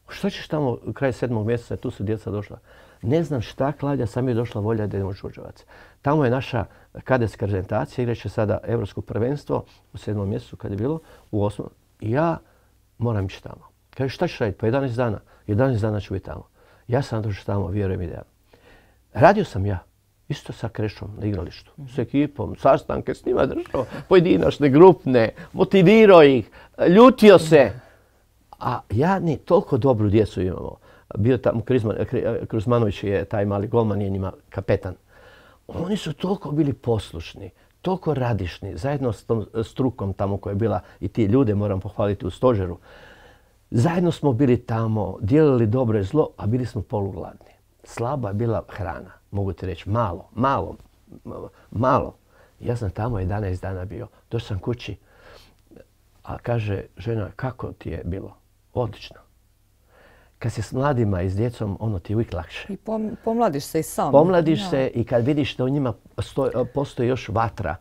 Što ćeš tamo kraj 7. mjeseca, tu su djeca došla. Ne znam šta, Klaudija, sam je došla volja da idemo u Đurđevac. Tamo je naša kadetska reprezentacija, igraće sada Europsko prvenstvo u 7. mjesecu kad je bilo, u 8. I ja moram ići tamo. Kaže, šta ćeš raditi? Pa 11 dana. 11 dana ću biti tamo. Ja sam došao tamo, vjerujem i da. Radio sam ja. Isto sa Krešom na igralištu, s ekipom, sastanke s njima držao, pojedinačne, grupne, motivirao ih, ljutio se. A ja toliko dobru djecu imamo. Bio tamo Kruzmanović je taj mali golman, je njima kapetan. Oni su toliko bili poslušni, toliko radišni, zajedno s tom strukom tamo koja je bila i ti ljude moram pohvaliti u stožeru. Zajedno smo bili tamo, dijelili dobro i zlo, a bili smo polugladni. Slaba je bila hrana, mogu ti reći, malo. Ja sam tamo 11 dana bio, došao sam kući, a kaže žena, kako ti je bilo? Odlično. Kad si s mladima i s djecom, ono ti je uvijek lakše. I pomladiš se i sam. Pomladiš se i kad vidiš da u njima postoji još vatra,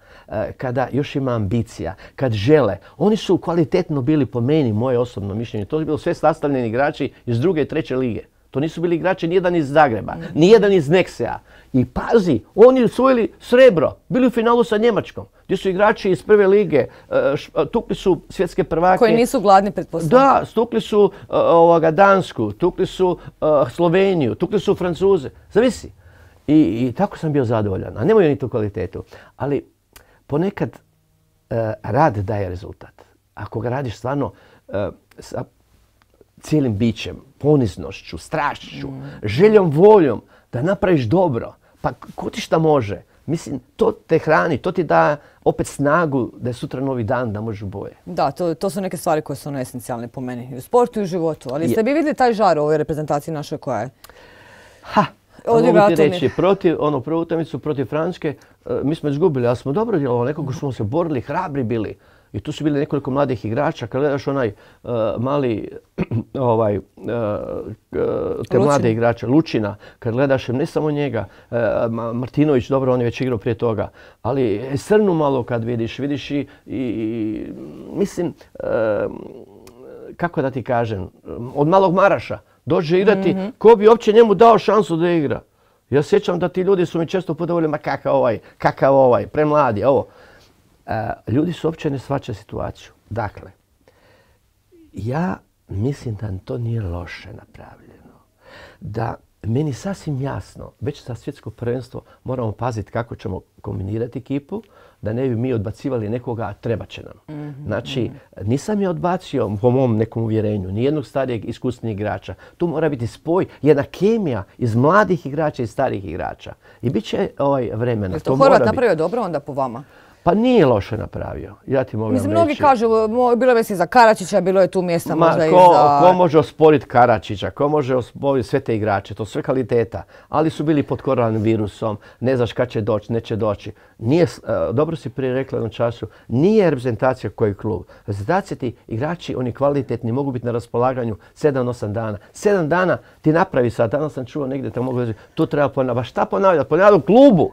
kada još ima ambicija, kad žele. Oni su kvalitetno bili po meni, moje osobno mišljenje. To su bilo sve sastavljeni igrači iz 2. i 3. lige. To nisu bili igrači nijedan iz Zagreba, nijedan iz Neksea. I pazi, oni osvojili srebro, bili u finalu sa Njemačkom, gdje su igrači iz 1. lige, tukli su svjetske prvake. Koji nisu gladni, pretpostavljam. Da, tukli su Dansku, tukli su Sloveniju, tukli su Francuze. Zavisi. I tako sam bio zadovoljan, a nemaju ni tu kvalitetu. Ali ponekad rad daje rezultat. Ako ga radiš stvarno sa cijelim bićem, poniznošću, strašću, željom, voljom da napraviš dobro. Pa ko ti šta može? Mislim, to te hrani, to ti da opet snagu da je sutra novi dan, da možeš bolje. Da, to su neke stvari koje su esencijalne po meni. I u sportu i u životu. Ali ste bi vidjeli taj žar u ovoj reprezentaciji našoj koja je? Mogu ti reći, prvu utakmicu protiv Francuske, mi smo izgubili, ali smo dobro djelovali, nekako smo se borili, hrabri bili. I tu su bili nekoliko mladih igrača. Kad gledaš onaj mali, te mlade igrače, Lučina, kad gledaš ne samo njega, Martinović, dobro, on je već igrao prije toga, ali Srnu malo kad vidiš i mislim, kako da ti kažem, od malog Maraša dođe igrati, ko bi uopće njemu dao šansu da igra. Ja sjećam da ti ljudi su mi često puta govorili, ma kakav ovaj, premladi, ovo. Ljudi su uopće ne shvaćaju situaciju. Dakle, ja mislim da to nije loše napravljeno. Da meni sasvim jasno, već za svjetsko prvenstvo moramo paziti kako ćemo kombinirati ekipu, da ne bi mi odbacivali nekoga, a treba će nam. Znači, nisam je odbacio po mom nekom uvjerenju, nijednog starijeg iskusnijeg igrača. Tu mora biti spoj, jedna kemija iz mladih igrača i starih igrača. I bit će vremena. Je to Horvat napravio dobro onda po vama? Pa nije loše napravio, ja ti mogu reći. Mnogi kažu, bilo je mislim za Karačića, bilo je tu mjesta možda i za... Ko može osporiti Karačića, ko može osporiti sve te igrače, to su sve kvaliteta. Ali su bili pod koronavirusom, ne znaš kad će doći, neće doći. Dobro si prije rekla jednom času, nije reprezentacija koji klub. Reprezentacija ti igrači, oni kvalitetni, mogu biti na raspolaganju 7-8 dana. 7 dana ti napravi sad, danas sam čuo negdje, te mogu reći, tu treba ponavljati. Šta ponavljati? Ponavljati u klubu.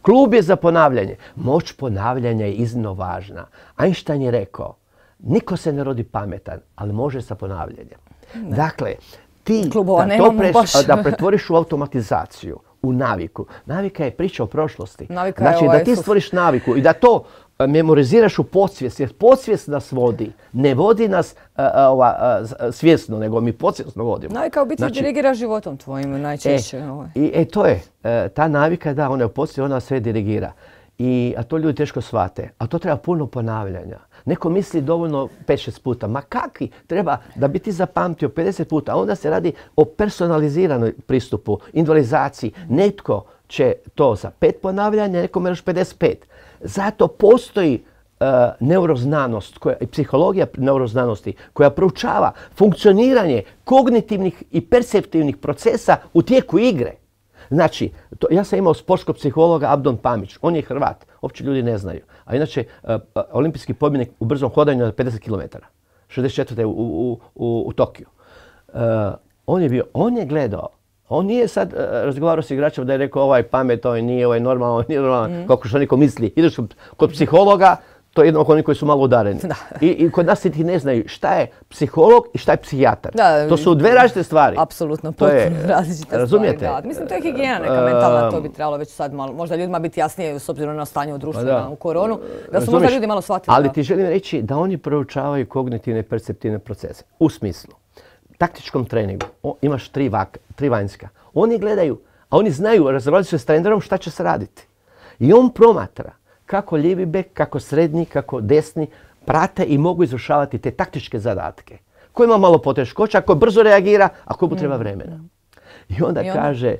Klub je za ponavljanje. Moć ponavljanja je iznimno važna. Einstein je rekao, niko se ne rodi pametan, ali može sa ponavljanjem. Dakle, ti klubova nemamo baš. da pretvoriš u automatizaciju, u naviku. Navika je priča o prošlosti. Navika znači da ti stvoriš naviku i da to memoriziraš u podsvijest, jer podsvijest nas vodi. Ne vodi nas svjesno, nego mi podsvjesno vodimo. Navika u biti dirigira životom tvojim najčešće. To je. Ta navika, da, ona je u podsvijesti, ona sve dirigira. A to ljudi teško shvate. A to treba puno ponavljanja. Neko misli dovoljno 5-6 puta. Ma kakvi? Treba da bi ti zapamtio 50 puta. A onda se radi o personaliziranoj pristupu, individualizaciji. Netko će to za 5 ponavljanja, nekome još 55. Zato postoji neuroznanost i psihologija neuroznanosti koja proučava funkcioniranje kognitivnih i perceptivnih procesa u tijeku igre. Znači, ja sam imao sportskog psihologa Abdon Pamić, on je Hrvat, uopće ljudi ne znaju. A inače, olimpijski pobjednik u brzom hodanju na 50 km, 64. u Tokiju. On je gledao, on nije sad razgovarao s igračima da je rekao ovaj pamet, ovaj nije, ovaj normalno, ovaj nije normalno, kako što neko misli. Ideš kod psihologa, to je jedno oko onih koji su malo udareni. I kod nas ti ne znaju šta je psiholog i šta je psihijatar. To su dve različite stvari. Apsolutno, potpuno različite razumijete? stvari. Mislim, to je higijena neka mentalna, to bi trebalo već sad malo, možda ljudima biti jasnije s obzirom na stanje u društvu, u koronu, da su možda ljudi malo shvatili. Ali ti želim reći da oni proučavaju kognitivne i perceptivne procese. U smislu, taktičkom treningu imaš tri vanjska. Oni gledaju, a oni znaju, razgovaraju se s trenerom šta će se raditi. I on promatra kako lijevi bek, kako srednji, kako desni prate i mogu izvršavati te taktičke zadatke. Ko ima malo poteškoća, ko brzo reagira, a ko mu treba vremena. I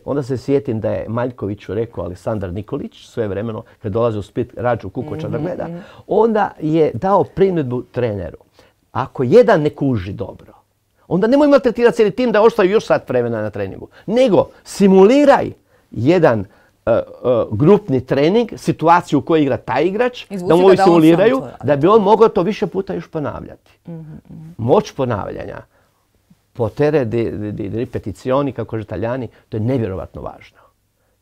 onda se sjetim da je Maljkoviću rekao Aleksandar Nikolić svojevremeno, kad dolazi u Split Rađu Kukoča da gleda, onda je dao primjedbu treneru. Ako jedan ne kuži dobro, onda nemoj maltretirati cijeli tim da ostaju još sat vremena na treningu. Nego simuliraj jedan grupni trening, situaciju u kojoj igra taj igrač, da mu ovi simuliraju, da bi on mogao to više puta još ponavljati. Moć ponavljanja, potere di ripetizioni, kako kaže Italijani, to je nevjerovatno važno.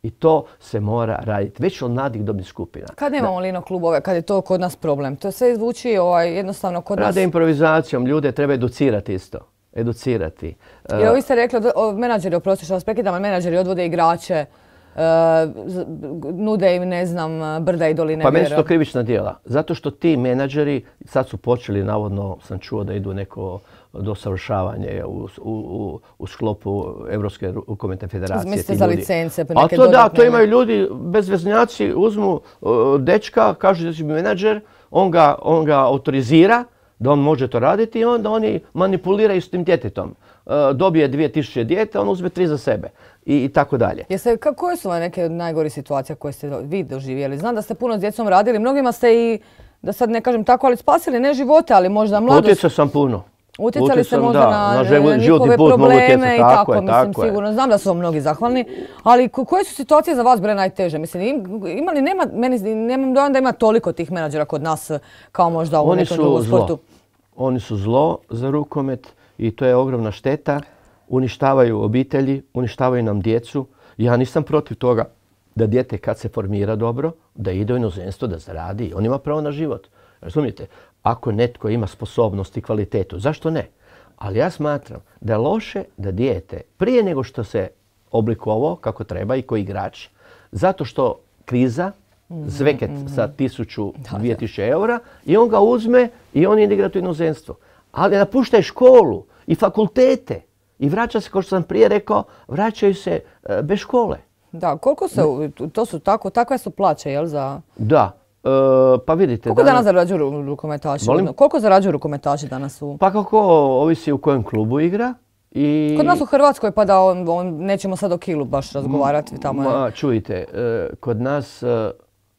I to se mora raditi već od mladih dobnih skupina. Kad nemamo Lino klubove, kad je to kod nas problem? To sve zvuči jednostavno kod nas... Rade improvizacijom, ljude treba educirati isto. Educirati. Jer vi ste rekli, menadžeri, oprosti što vas prekidam, ali menadžeri odvode igrače, nude im, ne znam, brda i doline. Pa meni su to krivična djela. Zato što ti menadžeri sad su počeli, navodno sam čuo da idu neko dosavršavanje u sklopu Europske rukometne federacije. Mislite za licence? A to da, to imaju ljudi, bezveznjaci, uzmu dečka, kažu da će biti menadžer, on ga autorizira da on može to raditi i onda oni manipuliraju s tim djetetom. Dobije 2000 dijete, on uzme 3 za sebe i tako dalje. Koje su neke od najgorih situacija koje ste vi doživjeli? Znam da ste puno s djecom radili, mnogima ste i, da sad ne kažem tako, ali spasili ne živote, ali možda mladost. Utjecao sam puno. Utjecali ste možda na njihove probleme i tako, mislim, sigurno. Znam da su vam mnogi zahvalni, ali koje su situacije za vas bile najteže? Mislim, nemam dojam da ima toliko tih menadžera kod nas kao možda u nekom drugom sportu. Oni su zlo za rukomet i to je ogromna šteta. Uništavaju obitelji, uništavaju nam djecu. Ja nisam protiv toga da dijete kad se formira dobro, da ide u inozemstvo, da zaradi. On ima pravo na život. Razumijete? Ako netko ima sposobnost i kvalitetu, zašto ne? Ali ja smatram da je loše da dijete, prije nego što se oblikovao kako treba i koji igrač, zato što kriza, zveket sa 1000-2000 eura i on ga uzme i on ide igrati u inozemstvo. Ali napuštaj školu i fakultete i vraća se, kao što sam prije rekao, vraćaju se bez škole. Da, koliko se, to su takve su plaće, jel za... Da. Pa vidite... Koliko danas zarađuju rukometaši? Koliko zarađuju rukometaši danas u... Pa kako ovisi u kojem klubu igra. Kod nas u Hrvatskoj, pa da nećemo sad o kilu baš razgovarati. Čujte, kod nas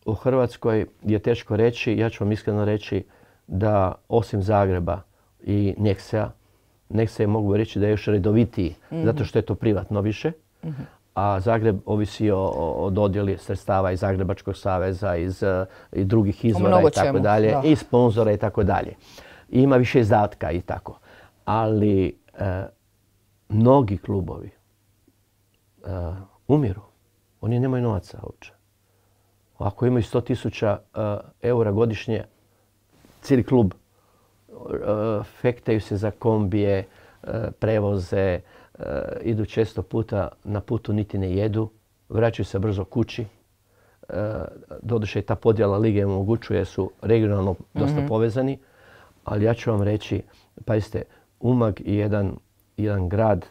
u Hrvatskoj je teško reći, ja ću vam iskreno reći da osim Zagreba i Nexe mogu reći da je još redovitiji, zato što je to privatno više. A Zagreb ovisi o dodjeli sredstava iz Zagrebačkog saveza, i drugih izvora i tako dalje, i sponzora i tako dalje. Ima više izdatka i tako. Ali mnogi klubovi umiru. Oni nemaju novaca uopće. Ako imaju 100.000 eura godišnje, cijeli klub fektaju se za kombije, prevoze, idu često puta na putu niti ne jedu, vraćaju se brzo kući. Doduše i ta podjela lige omogućuje, su regionalno dosta povezani, ali ja ću vam reći, pazite, Umag je jedan grad,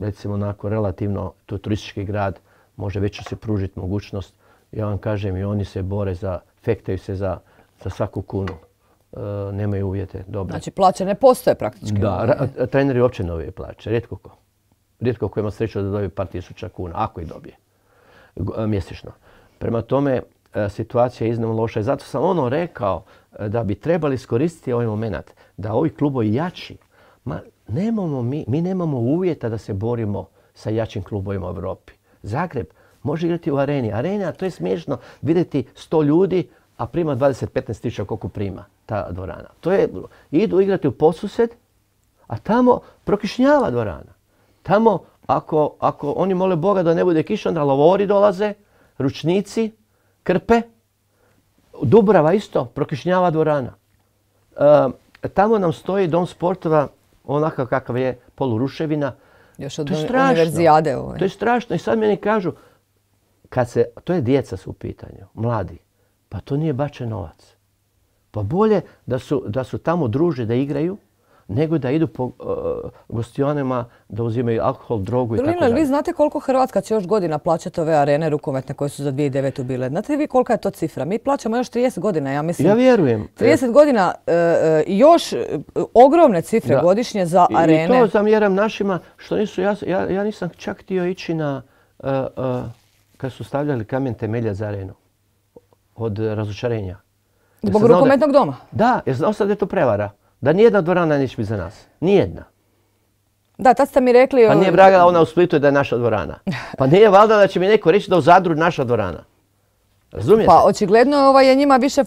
recimo onako relativno, to je turistički grad, može već se pružiti mogućnost. Ja vam kažem, i oni se bore fektaju se za svaku kunu. Nemaju uvjete dobre. Znači plaće ne postoje praktički. Da, treneri uopće ne dobije plaće, rijetko ko. Rijetko ko ima sreću da dobije par tisuća kuna, ako ih dobije mjesečno. Prema tome, situacija je iznimno loša i zato sam rekao da bi trebali iskoristiti ovaj moment da ovi klubovi jači. Mi nemamo uvjeta da se borimo sa jačim klubovima u Europi. Zagreb može igrati u areni. Arena, to je smiješno vidjeti 100 ljudi, a prima 20-15 tisuća koliko prima ta dvorana. Idu igrati u Podsused, a tamo prokišnjava dvorana. Tamo, ako oni mole Boga da ne bude kiša, onda lavori dolaze, ručnici, krpe. Dubrava isto, prokišnjava dvorana. Tamo nam stoji dom sportova, onakav kakav je, poluruševina. Još od univerzijade. To je strašno. I sad meni kažu, to je djeca su u pitanju, mladi. Pa to nije bačen novac. Pa bolje da su tamo druže, da igraju, nego da idu po gostionima, da uzimaju alkohol, drogu i tako dalje. Vi znate koliko Hrvatska će još godina plaćati ove arene rukometne koje su za 2009. bile? Znate li vi kolika je to cifra? Mi plaćamo još 30 godina, ja mislim. Ja vjerujem. 30 godina i još ogromne cifre godišnje za arene. I to zamjeram našima što nisu, ja nisam čak htio ići na, kad su stavljali kamen temelja za arenu. Od razočarenja. Zbog rukometnog doma? Da, jer znao sam da je to prevara. Da nijedna dvorana neće biti za nas. Nijedna. Da, tad ste mi rekli... Pa nije vraga ona u Splitu i da je naša dvorana. Pa nije valjda da će mi neko reći da u Zadru naša dvorana. Razumijete? Pa očigledno je njima više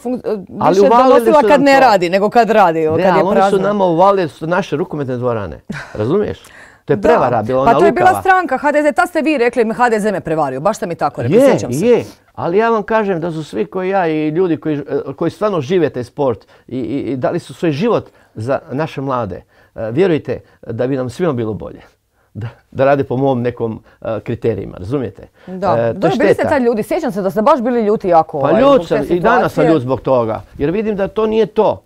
donosila kad ne radi nego kad radi. Ne, ali oni su nama uvalili naše rukometne dvorane. Razumiješ? To je prevara bila, ona lukava. Pa to je bila stranka HDZ, tad ste vi rekli HDZ me prevario, baš ste mi tako rekli, sjećam se. Je, ali ja vam kažem da su svi koji ja i ljudi koji stvarno žive taj sport i dali su svoj život za naše mlade, vjerujte da bi nam svima bilo bolje. Da rade po mom nekom kriterijima, razumijete? Da, bili ste tad ljudi, sjećam se da ste baš bili ljuti jako. Pa ljut sam i danas sam ljut zbog toga, jer vidim da to nije to.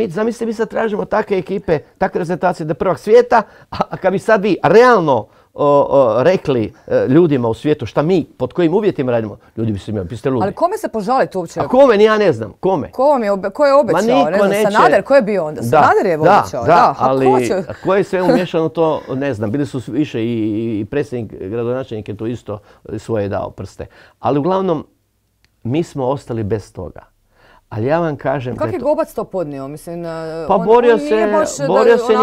Zamislite, mi sad tražimo takve ekipe, takve reprezentacije da je prvak svijeta, a kad bi sad vi realno rekli ljudima u svijetu šta mi, pod kojim uvjetima radimo, ljudi bi se imali, biste ludi. Ali kome se požaliti uopće? A kome, ja ne znam, kome? Ko je obećao? Ne znam, Sanader, ko je bio onda? Sanader je obećao, da. Ali ko je sve umješano to, ne znam, bili su više i predsjednik, gradonačelnik je to isto svoje dao prste. Ali uglavnom, mi smo ostali bez toga. Ali ja vam kažem... Kako je Gobac to podnio? Mislim, pa borio se,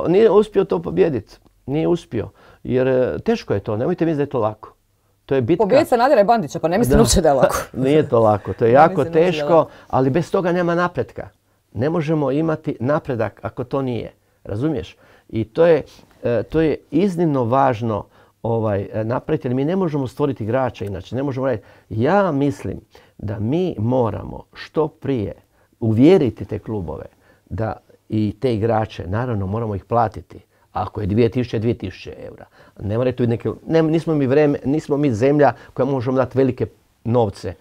nije uspio to pobijediti. Nije uspio. Jer teško je to, nemojte misliti da je to lako. To je bitka... Pobijediti Sanadera i Bandića, pa ne mislim uopće da je lako. Nije to lako, to je jako teško, ali bez toga nema napretka. Ne možemo imati napredak ako to nije. Razumiješ? I to je iznimno važno napraviti, jer mi ne možemo stvoriti igrača inače. Ne možemo raditi. Ja mislim da mi moramo što prije uvjeriti te klubove da i te igrače, naravno moramo ih platiti. Ako je 2000 eura. Ne morate tu neke, nismo mi zemlja koja možemo dati velike novce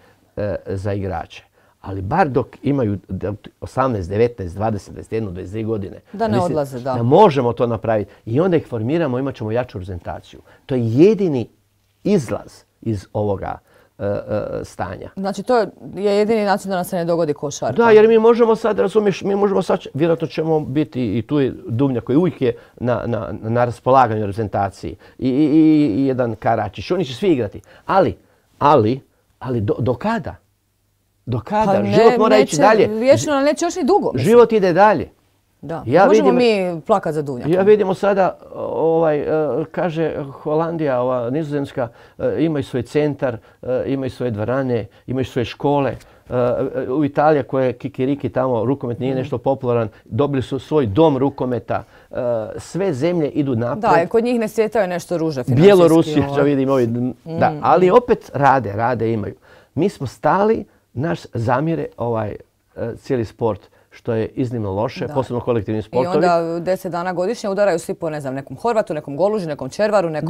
za igrače. Ali bar dok imaju 18, 19, 20, 21, 22 godine. Da ne odlaze, da. Da možemo to napraviti. I onda ih formiramo, imat ćemo jaču reprezentaciju. To je jedini izlaz iz ovoga stanja. Znači to je jedini način da nam se ne dogodi košarka. Da, jer mi možemo sad, razumiješ, vjerojatno ćemo biti i tu je Duvnjak koji uvijek je na raspolaganju reprezentaciji i jedan Karačić. Oni će svi igrati. Ali do kada? Do kada? Život mora ići dalje. Vječno, ali neće još ni dugo. Život ide dalje. Da, možemo mi plakati za Duvnjakom. Ja vidimo sada, kaže Holandija, Nizozemska, imaju svoj centar, imaju svoje dvorane, imaju svoje škole. U Italiji koja je kikiriki tamo, rukomet nije nešto popularan, dobili su svoj dom rukometa. Sve zemlje idu naprijed. Da, kod njih ne svjetaju nešto ruže financijski. Bjelorusija, što vidim, da, ali opet rade imaju. Mi smo stali, naš zamjere cijeli sport, što je iznimno loše, posebno kolektivni sportovi. I onda 10 dana godišnje udaraju svi po, ne znam, nekom Horvatu, nekom Goluži, nekom Červaru, nekom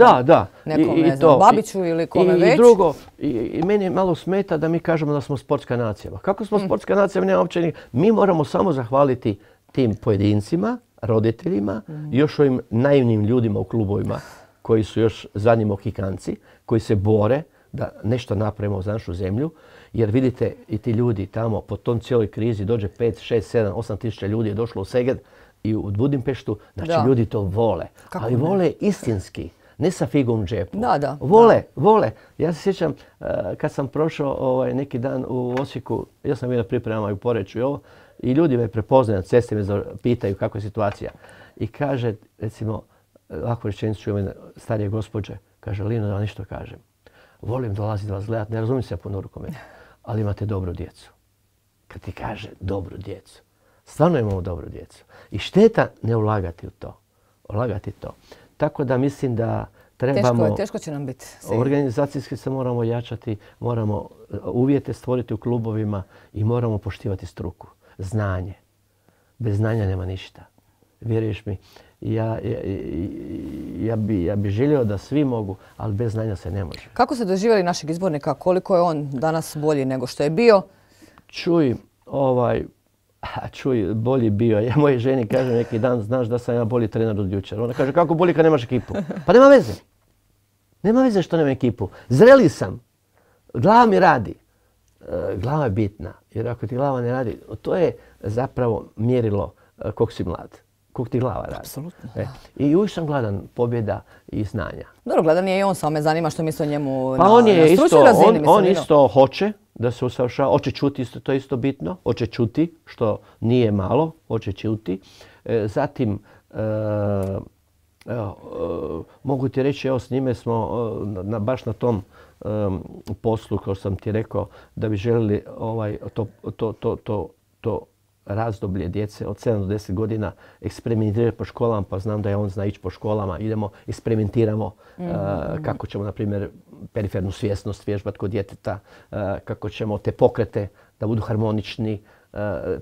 Babiću ili kome već. I drugo, i meni malo smeta da mi kažemo da smo sportska nacija. Kako smo sportska nacija, nema uopće mi moramo samo zahvaliti tim pojedincima, roditeljima i još ovim naivnim ljudima u klubovima koji su još zadnji mohikanci, koji se bore da nešto napravimo za našu zemlju. Jer vidite i ti ljudi tamo po tom cijeloj krizi dođe 5, 6, 7, 8 tisuća ljudi je došlo u Seged i u Budimpeštu. Znači ljudi to vole. Ali vole istinski. Ne sa figom u džepu. Vole. Ja se sjećam kad sam prošao neki dan u Osijeku, ja sam bio na pripremama i u Poreču i ovo, i ljudi me prepoznaju na cesti, me pitaju kako je situacija. I kaže, recimo, ovakvu rečenicu čujem jedna starije gospođe, kaže, Lino, da vam nešto kažem. Volim dolaziti vas gledati, ne razumijem se ja puno rukometu, ali imate dobru djecu. Kad ti kaže dobru djecu, stvarno imamo dobru djecu. I šteta ne ulagati u to. Tako da mislim da trebamo... Teško će nam biti. Organizacijski se moramo jačati, moramo uvjete stvoriti u klubovima i moramo poštivati struku. Znanje. Bez znanja nema ništa. Vjeruješ mi, ja bi želio da svi mogu, ali bez znanja se ne može. Kako ste doživjeli našeg izbornika? Koliko je on danas bolji nego što je bio? Čuj, bolji bio. Ja mojoj ženi kažem neki dan, znaš da sam ja bolji trener od jučer. Ona kaže, kako bolji kad nemaš ekipu? Pa nema veze. Nema veze što nema ekipu. Zreli sam. Glava mi radi. Glava je bitna. Jer ako ti glava ne radi, to je zapravo mjerilo koliko si mlad. Koliko ti glava radi. Apsolutno. I uvijek sam gladan pobjeda i znanja. Dobro, gladan je i on, samo me zanima što misli o njemu pa na stručnoj razini. On isto hoće da se usavršava, hoće čuti, to je isto bitno. Hoće čuti, što nije malo, hoće čuti. Zatim, mogu ti reći, evo s njime smo baš na tom poslu, kao sam ti rekao, da bi željeli to razdoblje djece od 7 do 10 godina eksperimentirati po školama, pa znam da je on zna ići po školama. Idemo, eksperimentiramo kako ćemo, na primjer, perifernu svjesnost vježbati kod djeteta, kako ćemo te pokrete da budu harmonični,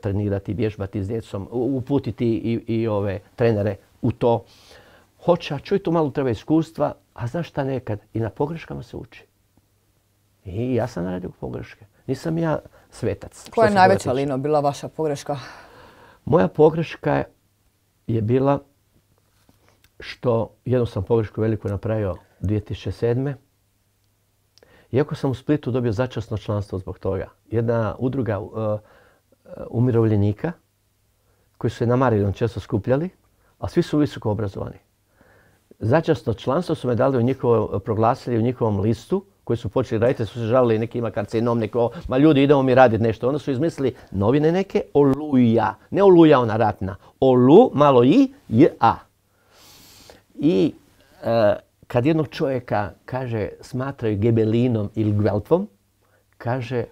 trenirati, vježbati s djecom, uputiti i ove trenere u to. Hoće, a čuj, tu malo treba iskustva, a znaš šta, nekad i na pogreškama se uči. I ja sam naradio pogreške. Nisam ja svetac. Koja je najveća, Lino, bila vaša pogreška? Moja pogreška je bila što jednu sam pogrešku veliku napravio 2007. Iako sam u Splitu dobio začasno članstvo zbog toga. Jedna udruga umirovljenika koji su se na Mariljom često skupljali, a svi su visoko obrazovani. Začasno članstvo su me dali proglasili u njihovom listu koji su počeli raditi, su se žalili, neki ima karcinom, neko, ma ljudi idemo mi raditi nešto. Onda su izmislili novine neke, Oluja. Ne Oluja ona ratna, Olu, malo i, J-A. I kad jednog čovjeka, kaže, smatraju Gebelinom ili Gveltvom, kaže,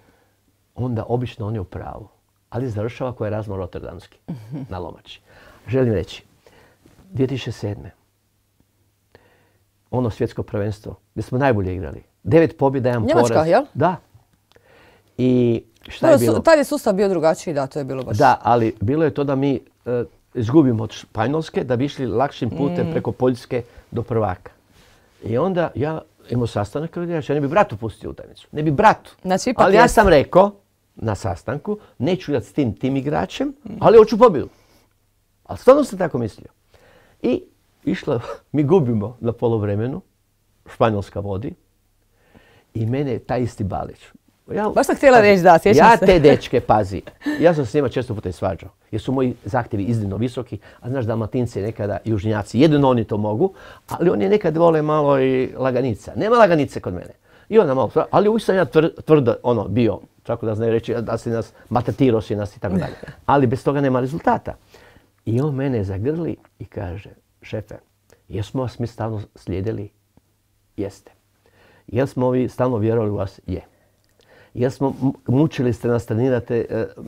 onda obično on je u pravu. Ali završava koji je Razmo Rotterdamski na Lomači. Želim reći, 2007. Ono svjetsko prvenstvo gdje smo najbolje igrali. 9 pobjeda, 1 poraz. Njemačka, jel? Da. I šta je bilo? Tad je sustav bio drugačiji, da, to je bilo baš. Da, ali bilo je to da mi izgubimo od Španjolske, da bi išli lakšim putem preko Poljske do prvaka. I onda ja imao sastanak, ja ne bi bratu pustio utakmicu. Ne bi bratu. Znači, ali ja sam rekao na sastanku, neću igrati s tim igračem, ali hoću pobjedu. Ali stvarno sam tako mislio. I mi gubimo na poluvremenu, Španjolska vodi i mene taj isti Balić. Baš sam htjela reći, da, sjećam se. Ja te dečke, pazi, ja sam s njima često puta i svađao, jer su moji zahtjevi iznimno visoki, a znaš Dalmatinci nekada južnjaci, jedino oni to mogu, ali oni nekad vole malo i laganica. Nema laganice kod mene. I onda malo, ali uvijek sam ja tvrdo bio, tako da znaju reći da si nas, maltretirao si nas i tako dalje. Ali bez toga nema rezultata. I on mene zagrli i kaže, šefe, jesmo vas mi stalno slijedili? Jeste. Jel smo vi stalno vjerovali u vas? Je. Jel smo mučili ste nas trenirati?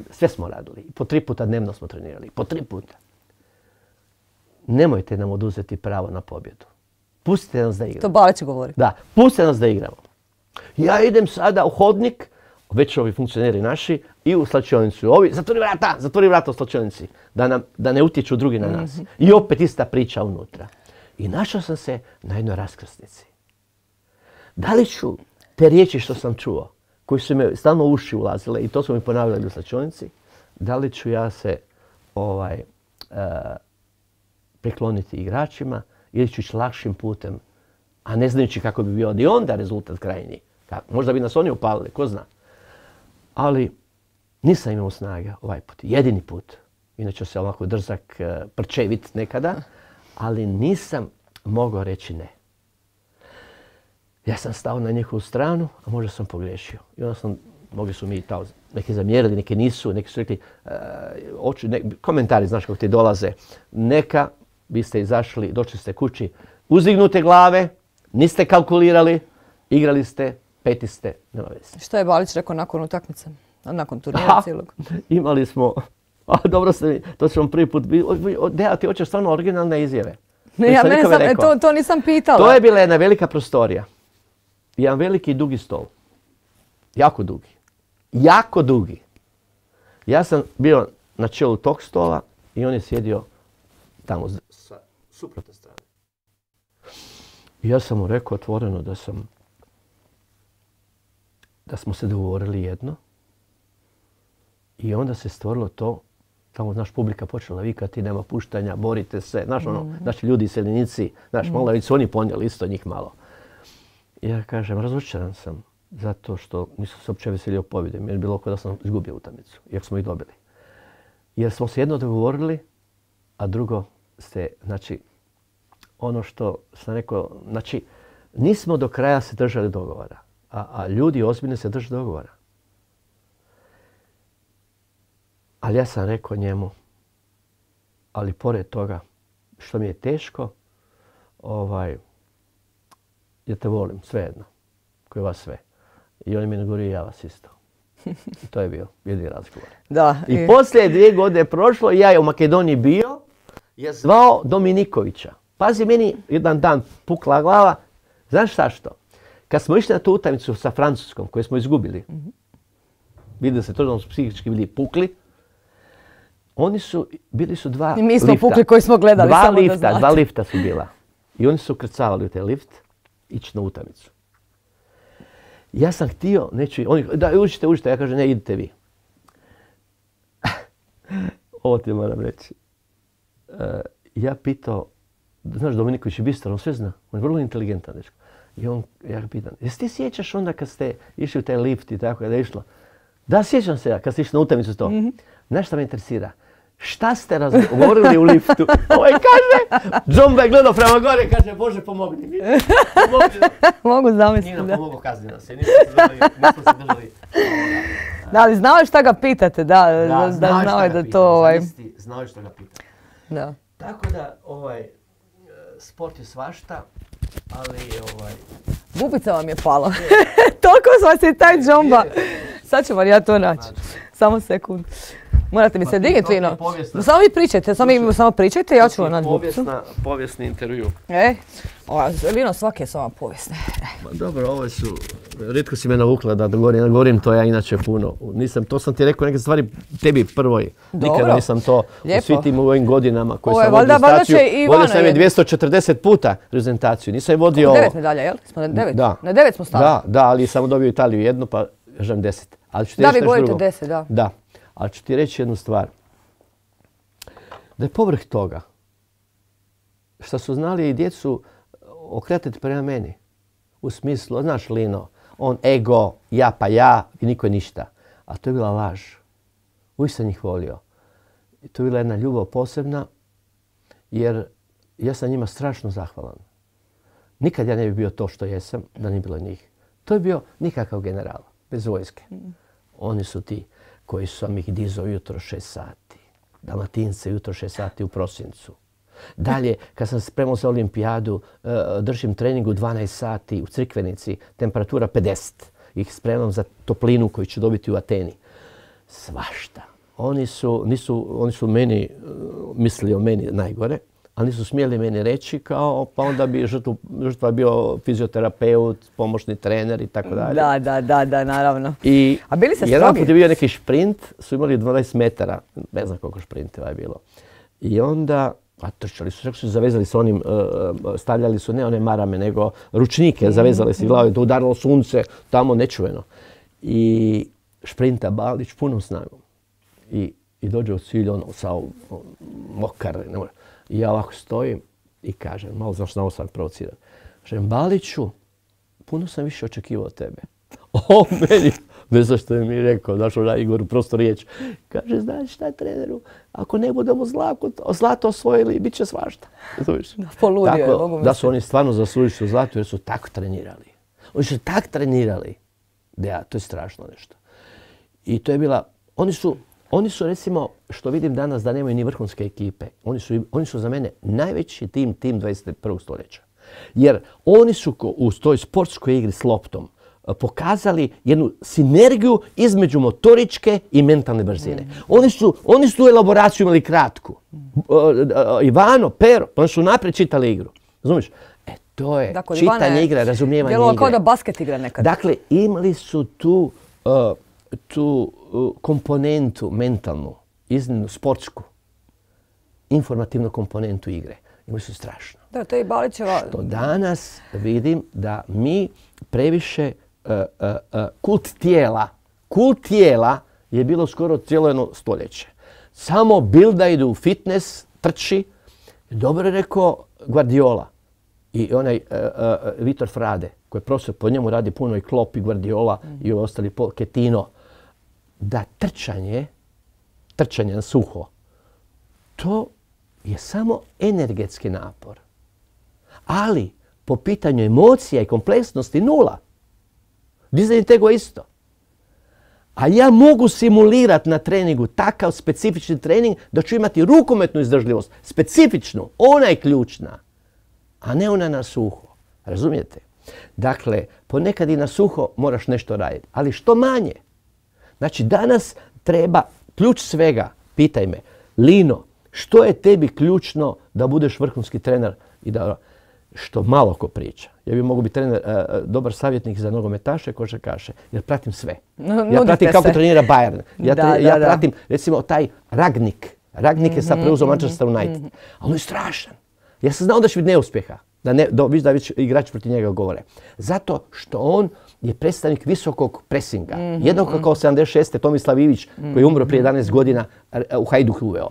Sve smo radili. Po 3 puta dnevno smo trenirali. Po 3 puta. Nemojte nam oduzeti pravo na pobjedu. Pustite nas da igramo. To Balić govori. Da, pustite nas da igramo. Ja idem sada u hodnik, već ovi funkcioneri naši i u slačionicu. Ovi, zatvori vrata u slačionici, da ne utječu drugi na nas. I opet ista priča unutra. I našao sam se na jednoj raskrsnici. Da li ću te riječi što sam čuo, koji su me stalno u uši ulazile i to su mi ponavljali u slačionici, da li ću ja se prikloniti igračima ili ću ići lakšim putem, a ne znajući kako bi bio i onda rezultat krajnji. Možda bi nas oni upalili, ko zna. Ali nisam imao snage ovaj put, jedini put. Inače se ovako drzak, prčevit nekada, ali nisam mogao reći ne. Ja sam stao na njihovu stranu, a možda sam pogriješio. I onda mogli su mi neki zamjerili, neki nisu, neki su rekli, komentari, znaš kako ti dolaze. Neka, vi ste izašli, došli ste kući, uzdignute glave, niste kalkulirali, igrali ste, peti ste, nema veze. Što je Balić rekao nakon utakmice? Nakon turnira cijelog? Imali smo, dobro ste mi, to ću vam prvi put, Deja, ti hoćeš stvarno originalne izjave. To nisam pitala. To je bila jedna velika prostorija. Jedan veliki i dugi stol. Jako dugi. Jako dugi. Ja sam bio na čelu tog stola i on je sjedio tamo sa suprotne strane. I ja sam mu rekao otvoreno da smo se dogovorili jedno. I onda se stvorilo to, tamo naš publika počela vikati, nema puštanja, borite se. Znaš, naši ljudi, iseljenici, znaš, malo su oni ponijeli isto njih malo. Ja kažem, razočaran sam zato što nisam se uopće veselio pobjedom, jer je bilo kao da sam izgubio utakmicu, iako smo ih dobili. Jer smo se jedno dogovorili, a drugo ste, znači, ono što sam rekao, znači, nismo do kraja se držali dogovora, a ljudi ozbiljno se drže dogovora. Ali ja sam rekao njemu, ali pored toga, što mi je teško, ja te volim, svejedno, koji vas sve. I on je mi nagovorio, ja vas isto. I to je bio jedini razgovor. Da. I poslije 2 godine prošlo, ja je u Makedoniji bio, je zvao Dominikovića. Pazi, meni jedan dan pukla glava, znaš šta što? Kad smo išli na tu utakmicu sa Francuskom, koju smo izgubili, vidjeli se to da smo psihički bili pukli, bili su 2 lifta. I mi smo pukli koji smo gledali, samo da znate. 2 lifta su bila. I oni su ukrcavali u taj lift, ići na utakmicu. Ja sam htio, da užite, ja kažem ne, idite vi. Ovo ti moram reći. Ja pitao, znaš Dominiković je bistar, on sve zna, on je vrlo inteligentan dečko. I ja ga pitam, jesi ti sjećaš onda kad ste išli u taj lift i tako da je išlo? Da, sjećam se ja, kad ste išli na utakmicu to. Znaš šta me interesira? Šta ste razgovorili u liftu? Ovaj kaže, Džomba je gledao prema gore i kaže, Bože pomogni mi. Mogu zamisliti. Nije nam pomogao, kazni nas se, nismo se držali. Da, ali znao je šta ga pitate, da znao je da to... Znao je šta ga pitate. Da. Tako da, sport je svašta, ali Bubica vam je pala. Toliko vas je taj Džomba. Sad ćemo ja to naći. Samo sekund. Morate mi se dignuti, Lino. Samo vi pričajte, samo pričajte, ja ću vam naći Bubicu. Povijesni intervju. Lino, svake je sama povijesne. Dobro, ovo su, rijetko si me navukla da govorim to ja inače puno. To sam ti rekao neke stvari tebi prvoj. Nikada nisam to u svim tim ovim godinama koji sam vodio staciju. Vodio sam je 240 puta prezentaciju. Nisam je vodio... 9 medalja, jel? Smo na 9? Da. Na 9 smo stali. Da, ali sam dobio Italiju jednu, pa kažem 10. Da, vi govorite 10, da. Da. Ali ću ti reći jednu stvar. Da je povrh toga što su znali i djecu okretati prema meni. U smislu, znaš Lino, on ego, ja pa ja i niko ništa. A to je bila laž. Uvijek sam njih volio. I to je bila jedna ljubav posebna jer ja sam njima strašno zahvalan. Nikad ja ne bi bio to što jesam da nije bilo njih. To je bio nikakav general, bez vojske. Oni su ti koji sam ih dizao jutro 6 sati. Dalmatince jutro 6 sati u prosincu. Dalje, kad sam spremao za olimpijadu, držim trening u 12 sati u Crikvenici, temperatura 50. Ih spremam za toplinu koju ću dobiti u Ateni. Svašta. Oni su meni, mislili o meni najgore, ali nisu smjeli meni reći kao, pa onda bi žrtva bio fizioterapeut, pomoćni trener i tako dalje. Da, naravno. A bili se jedan put je bio neki šprint, su imali 12 metara, ne znam koliko šprinteva je bilo. I onda, trčali su, čak su zavezali s onim, stavljali su ne one marame, nego ručnike, zavezali se glavu, da udarilo sunce, tamo nečuveno. I šprinta Balić punom snagom. I dođe u cilj, mokar, ne može. I ja ovako stojim i kažem, malo znaš na ovo sam provocirati. Kažem, Baliću, puno sam više očekivao od tebe. Meni, ne znam što je mi rekao, znaš onaj Igor, prosto riječ. Kaže, znaš šta je treneru, ako ne budemo zlato osvojili, bit će svašta. Poludio je, mogu da su oni stvarno zaslužili zlato jer su tako trenirali. Oni su tako trenirali. Da, to je strašno nešto. I to je bila, oni su recimo, što vidim danas da nemaju ni vrhunske ekipe, oni su za mene najveći tim 21. stoljeća. Jer oni su u toj sportskoj igri s loptom pokazali jednu sinergiju između motoričke i mentalne brzine. Oni su tu elaboraciju imali kratku. Ivano, Pero, oni su naprijed čitali igru. Razumiješ? To je čitanje igre, razumijevanje igre. Djelovao kao da basket igra nekad. Dakle, imali su tu komponentu mentalnu, iznimno sportsku, informativnu komponentu igre. Imali su strašno. Da, to je i Balićeva. Što danas vidim da mi previše kult tijela je bilo skoro cijelo jedno stoljeće. Samo bilda idu u fitness, trči. Dobro je rekao Guardiola i onaj Vitor Frade, koji je profesor, po njemu radi puno i Klopp i Guardiola i ostali Ketino. Da trčanje na suho, to je samo energetski napor. Ali po pitanju emocija i kompleksnosti nula. Dizanje tego isto. A ja mogu simulirati na treningu takav specifični trening da ću imati rukometnu izdržljivost. Specifičnu, ona je ključna, a ne ona na suho. Razumijete? Dakle, ponekad i na suho moraš nešto raditi, ali što manje. Znači, danas treba ključ svega, pitaj me, Lino, što je tebi ključno da budeš vrhunski trener i da što malo ko priča. Ja bi mogu biti trener, dobar savjetnik za nogometaše, košarkaše, jer pratim sve. Ja pratim kako trenira Bayern. Ja pratim, recimo, taj Ragnik. Ragnik je sad preuzeo Manchester United. A on je strašan. Ja sam znao da će biti neuspjeha. Da već igrači protiv njega govore. Zato što on je predstavnik visokog presinga. Jednako kao 76. Tomislav Ivić, koji je umro prije 11 godina, u Hajduk uveo.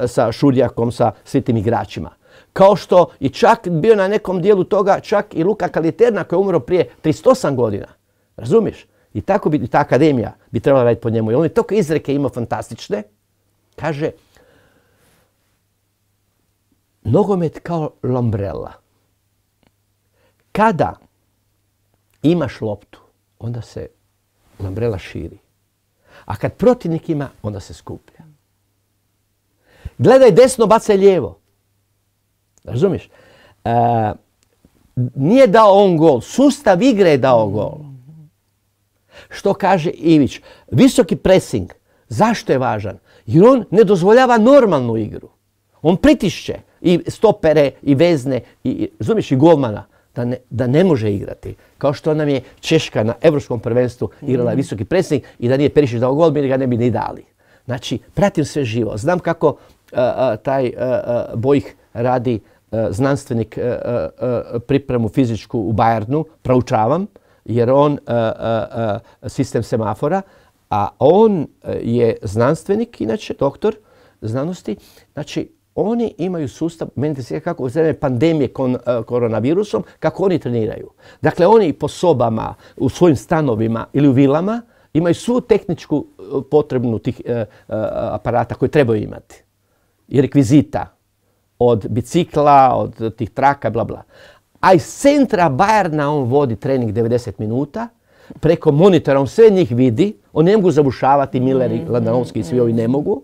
Sa Šurjakom, sa svim tim igračima. Kao što je čak bio na nekom dijelu toga čak i Luka Kaliterna koji je umro prije 38 godina. Razumiješ? I tako bi ta akademija bi trebala raditi po njemu. I on je toliko izreke imao fantastične. Kaže, nogomet kao lambrela. Kada imaš loptu, onda se lambrela širi. A kad protivnik ima, onda se skuplja. Gledaj desno, bacaj lijevo. Razumiješ? Nije dao on gol, sustav igre je dao gol. Što kaže Ivić? Visoki pressing. Zašto je važan? Jer on ne dozvoljava normalnu igru. On pritišće i stopere, i vezne, razumiješ, i golmana da ne može igrati. Kao što nam je Češka na Europskom prvenstvu igrala visoki pressing i da nije Perišić dao gol, mi ga ne bi ni dali. Znači, pratim sve živo. Znam kako taj Bojih radi znanstvenik pripremu fizičku u Bayernu, proučavam, jer on sistem semafora, a on je znanstvenik, inače doktor znanosti. Znači, oni imaju sustav, meni se kako u vreme pandemije koronavirusom, kako oni treniraju. Dakle, oni po sobama, u svojim stanovima ili u vilama imaju svu tehničku potrebnu tih aparata koje trebaju imati. I rekvizita. Od bicikla, od tih traka, bla bla. A iz centra Bayerna on vodi trening 90 minuta. Preko monitora on sve njih vidi. On ne mogu zabušavati, Miller i Landanovski i svi ovi ne mogu.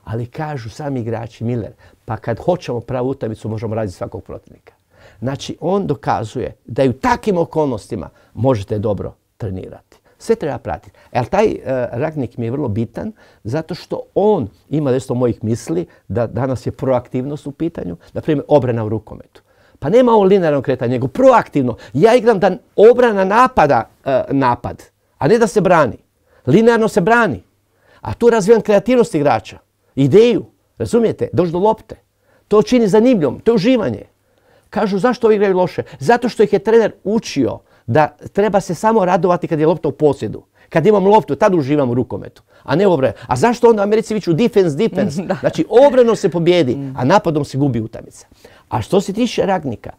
Ali kažu sami igrači, Miller, pa kad hoćemo pravu utakmicu možemo raditi svakog protivnika. Znači on dokazuje da i u takvim okolnostima možete dobro trenirati. Sve treba pratiti. Ali taj Rangnick mi je vrlo bitan zato što on ima nešto mojih misli da danas je proaktivnost u pitanju, na primjer obrana u rukometu. Pa nema ovo linearno kretanje, nego proaktivno. Ja igram da obrana napada napad, a ne da se brani. Linearno se brani. A tu razvijam kreativnost igrača, ideju, razumijete, doći do lopte. To čini zanimljivom, to je uživanje. Kažu zašto ovi igraju loše? Zato što ih je trener učio da treba se samo radovati kad je lopta u posjedu. Kad imam loptu, tad uživam u rukometu, a ne obranu. A zašto onda Americi viču defense? Znači obranom se pobjedi, a napadom se gubi utakmica. A što se tiče Rangnicka,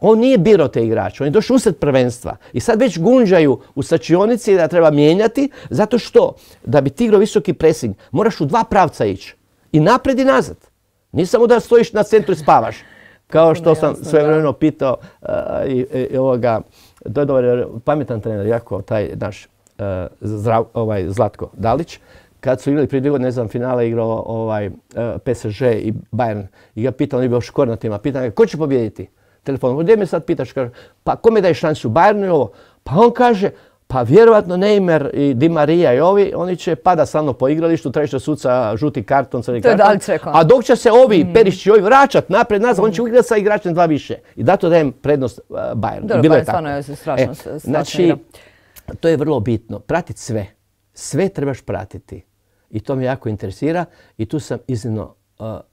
on nije birao te igrače, on je došao usred prvenstva i sad već gunđaju u slačionici da treba mijenjati, zato što da bi ti igrao visoki pressing moraš u dva pravca ići, i naprijed i nazad. Nije samo da stojiš na centru i spavaš, kao što sam svojevremeno pitao to je dobar, pametan trener, jako taj naš Zlatko Dalić, kad su igrali prije 2 godine, ne znam, finale igrao PSG i Bayern. I ga pitao, on je bio škor na tima, pitan ga, ko će pobijediti? Telefonom, gdje me sad pitaš? Kaže, pa kome daje šansu, Bayernu i ovo? Pa on kaže, pa vjerovatno Neymar i Di Maria i ovi, oni će pada samo po igralištu, tražiti suca žuti karton, crni karton. A dok će se ovi Perišići ovi vraćati napred nazad, on će igrati sa igračem 2 više. I zato dajem prednost Bayernu. Dobro, Bayern stvarno je strašno. Znači, to je vrlo bitno. Pratiti sve. Sve trebaš pratiti. I to me jako interesira i tu sam iznimno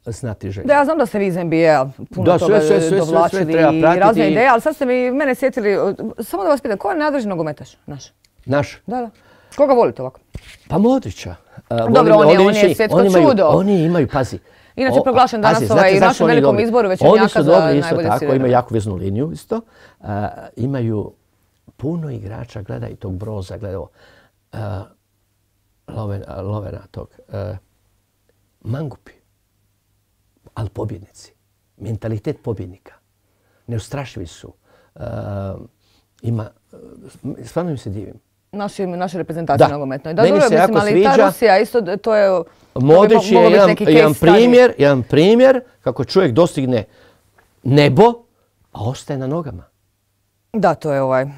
znatiželjan. Da, ja znam da ste vi iz NBA puno toga dovlačili i razne ideje, ali sad ste mene sjetili, samo da vas pitam, ko je najdraži nogometaš naš? Naš? Da. Koga volite ovako? Pa Modrića. Dobro, on je svjetsko čudo. Oni imaju, pazi. Inače proglašen danas i u našem velikom izboru većenjaka za najbolje sirene. Oni su dobri isto tako, imaju jako veznu liniju isto. Imaju puno igrača, gledaj tog Broza, gledaj ovo. Lovena tog. Mangupi. Ali pobjednici. Mentalitet pobjednika. Neustrašivi su. Stvarno im se divim. Naše reprezentacije nogometnoj. Meni se jako sviđa. Ta Rusija isto, to je... Modrić je jedan primjer kako čovjek dostigne nebo, a ostaje na nogama. Da, to je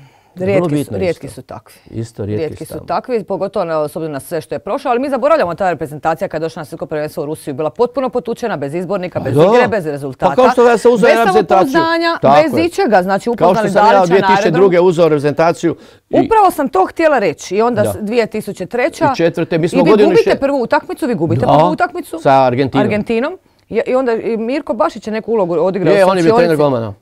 rijetki su takvi. Rijetki su takvi, pogotovo s obzirom na sve što je prošlo, ali mi zaboravljamo ta reprezentacija kada je došla na svjetsko prvenstvo u Rusiju, bila potpuno potučena, bez izbornika, bez igre, bez rezultata. Pa kao što ja sam uzeo reprezentaciju. Bez samopouzdanja, bez ičega, znači upoznali Dalića na aerodromu. Kao što sam ja 2002. uzeo reprezentaciju. Upravo sam to htjela reći i onda 2003. I četvrte, mi smo i vi gubite prvu utakmicu, sa Argentinom. I onda Mirko Bašić je neku ulogu odigrao. On je bio trener golmana.